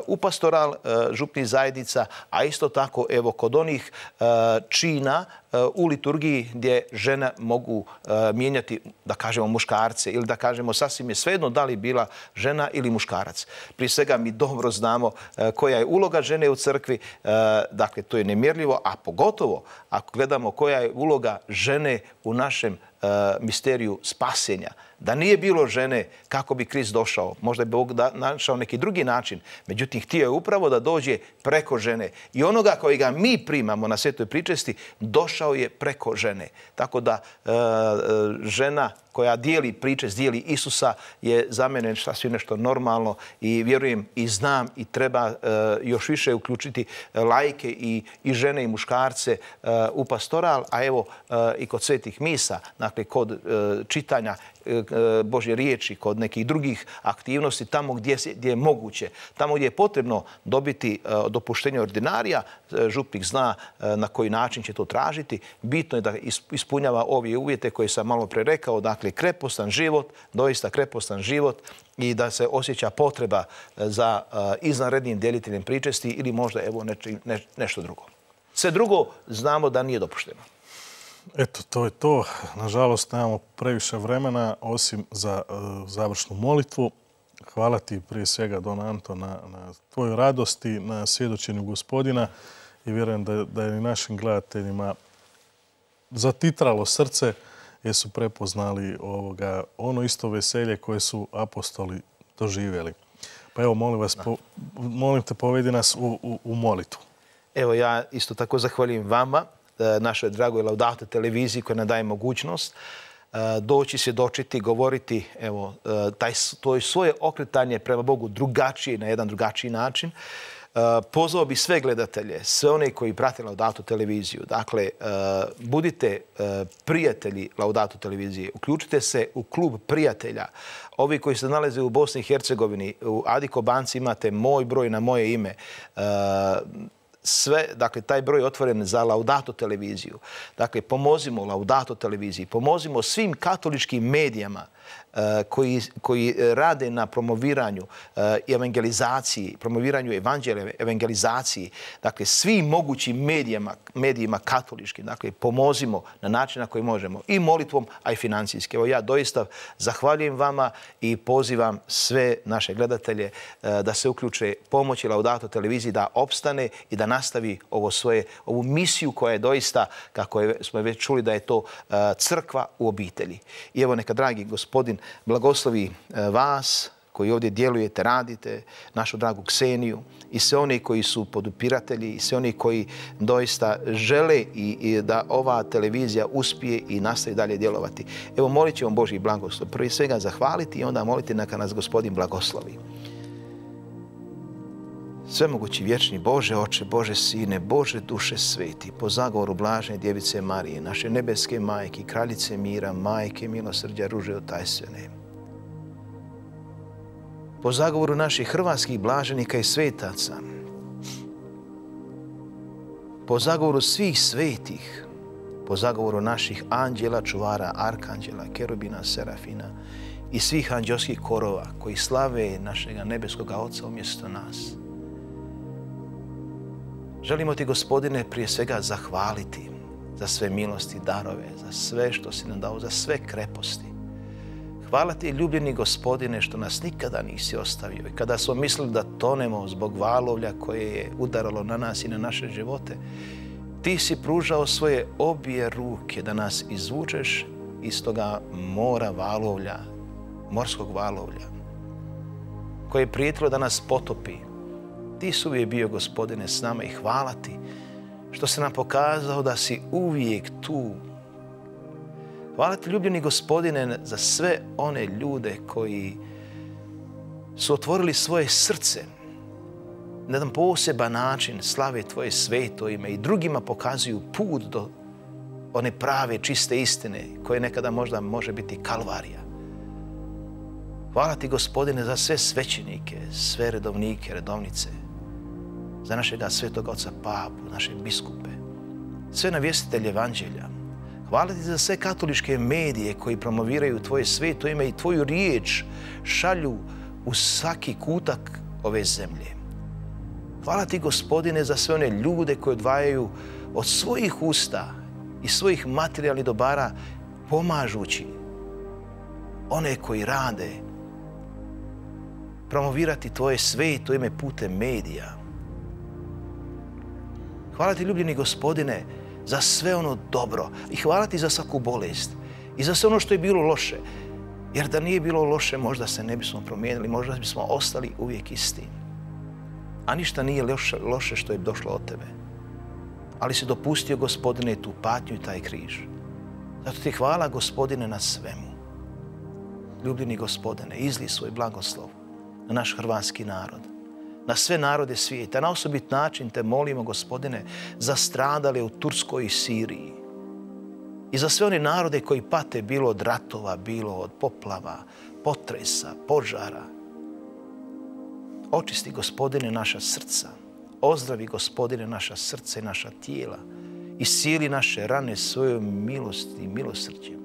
u pastoral župnih zajednica, a isto tako, evo, kod onih ovih čina u liturgiji gdje žene mogu mijenjati, da kažemo, muškarce ili da kažemo sasvim je svejedno da li bila žena ili muškarac. Prije svega mi dobro znamo koja je uloga žene u crkvi, dakle to je nemjerljivo, a pogotovo ako gledamo koja je uloga žene u našem misteriju spasenja. Da nije bilo žene, kako bi Krist došao? Možda bi Bog našao neki drugi način. Međutim, htio je upravo da dođe preko žene. I onoga kojega mi primamo na svetoj pričesti, došao je preko žene. Tako da žena koja dijeli pričest, dijeli Isusa je za mene sasvim nešto normalno i vjerujem i znam i treba još više uključiti laike i žene i muškarce u pastoral, a evo i kod svetih misa, dakle kod čitanja Božje riječi, kod nekih drugih aktivnosti, tamo gdje je moguće, tamo gdje je potrebno dobiti dopuštenje ordinarija, župnik zna na koji način će to tražiti. Bitno je da ispunjava ove uvjete koje sam malo pre rekao, dakle krepostan život, doista krepostan život i da se osjeća potreba za izvanrednim djeliteljem pričesti ili možda evo nešto drugo. Sve drugo znamo da nije dopušteno. Eto, to je to. Nažalost, nemamo previše vremena osim za završnu molitvu. Hvala ti prije svega, Don Anto, na tvojoj radosti, na svjedočenju Gospodina i vjerujem da je i našim gledateljima zatitralo srce jer su prepoznali ono isto veselje koje su apostoli doživjeli. Pa evo, molim te, povedi nas u molitvu. Evo, ja isto tako zahvaljujem vama, našoj dragoj Laudato televiziji koja nam daje mogućnost doći, svjedočiti, govoriti, evo, to je svoje okretanje prema Bogu drugačije, na jedan drugačiji način. Pozvao bi sve gledatelje, sve one koji prate Laudato televiziju. Dakle, budite prijatelji Laudato televizije. Uključite se u klub prijatelja. Ovi koji se nalaze u Bosni i Hercegovini, u Adiko Banci imate moj broj na moje ime. Sve, dakle, taj broj je otvoren za Laudato televiziju. Dakle, pomozimo Laudato televiziji, pomozimo svim katoličkim medijama koji rade na promoviranju evangelizaciji, promoviranju evanđelja, evangelizaciji, dakle svim mogućim medijima katoličkim, dakle pomozimo na način na koji možemo i molitvom, a i financijski. Evo ja doista zahvaljujem vama i pozivam sve naše gledatelje da se uključe pomoći Laudato televiziji da opstane i da nastavi ovu misiju koja je doista, kako smo već čuli, da je to crkva u obitelji. I evo neka dragi Gospodin blagoslovi vas koji ovdje djelujete, radite, našu dragu Kseniju i sve oni koji su podupiratelji i sve oni koji doista žele i da ova televizija uspije i nastavi dalje djelovati. Evo, molit ćemo Božji blagoslov. Prije svega zahvaliti i onda moliti neka nas Gospodin blagoslovi. Svemogući vječni Bože Oče, Bože Sine, Bože duše sveti, po zagovoru blažene Djevice Marije, naše nebeske majke, kraljice mira, majke milosrđa, ruže otajstvene. Po zagovoru naših hrvatskih blaženika i svetaca, po zagovoru svih svetih, po zagovoru naših anđela, čuvara, arkanđela, kerubina, serafina i svih anđelskih korova koji slave našega nebeskoga Oca umjesto nas. Želimo ti, Gospodine, prije svega zahvaliti za sve milosti, darove, za sve što si nam dao, za sve kreposti. Hvala ti, ljubljeni Gospodine, što nas nikada nisi ostavio. I kada smo mislili da tonemo zbog valovlja koje je udaralo na nas i na naše živote, ti si pružao svoje obje ruke da nas izvučeš iz toga mora valovlja, morskog valovlja, koje je prijetilo da nas potopi. Ti si uvijek bio, Gospodine, s nama i hvala ti što se nam pokazao da si uvijek tu. Hvala ti, ljubljeni Gospodine, za sve one ljude koji su otvorili svoje srce na jedan poseban način, slave tvoje sveto ime i drugima pokazuju put do one prave, čiste istine koje nekada možda može biti kalvarija. Hvala ti, Gospodine, za sve svećenike, sve redovnike, redovnice, za našega svetoga oca Papu, naše biskupe, sve navjestitelje evanđelja. Hvala ti za sve katoličke medije koji promoviraju tvoje sveto ime i tvoju riječ šalju u svaki kutak ove zemlje. Hvala ti, Gospodine, za sve one ljude koji odvajaju od svojih usta i svojih materijalnih dobara pomažući one koji rade promovirati tvoje sveto ime putem medija. Hvala ti, ljubljeni Gospodine, za sve ono dobro i hvala ti za svaku bolest i za sve ono što je bilo loše. Jer da nije bilo loše, možda se ne bismo promijenili, možda bismo ostali uvijek isti. A ništa nije loše što je došlo od tebe. Ali si dopustio, Gospodine, tu patnju i taj križ. Zato ti hvala, Gospodine, na svemu. Ljubljeni Gospodine, izli svoj blagoslov na naš hrvatski narod, na sve narode svijeta. Na osobit način te molimo, Gospodine, za stradale u Turskoj i Siriji. I za sve one narode koji pate bilo od ratova, bilo od poplava, potresa, požara. Očisti, Gospodine, naša srca. Ozdravi, Gospodine, naša srca i naša tijela. Iscijeli naše rane svojom milosti i milosrđem.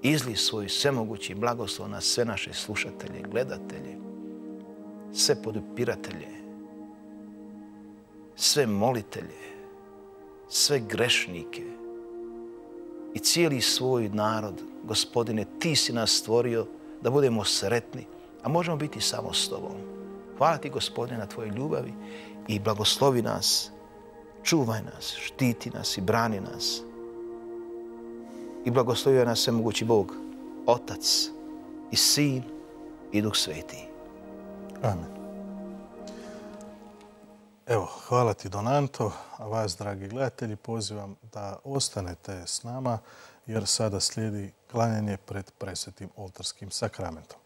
Izli svoj svemogući blagoslov na sve naše slušatelje, gledatelje, sve podupiratelje, sve molitelje, sve grešnike i cijeli svoj narod. Gospodine, ti si nas stvorio da budemo sretni, a možemo biti samo s tobom. Hvala ti, Gospodine, na tvojoj ljubavi i blagoslovi nas, čuvaj nas, štiti nas i brani nas. I blagoslovio nas svemogući Bog, Otac i Sin i Duh Sveti. Amen. Evo, hvala ti, Donanto, a vas, dragi gledatelji, pozivam da ostanete s nama jer sada slijedi klanjanje pred presvetim oltarskim sakramentom.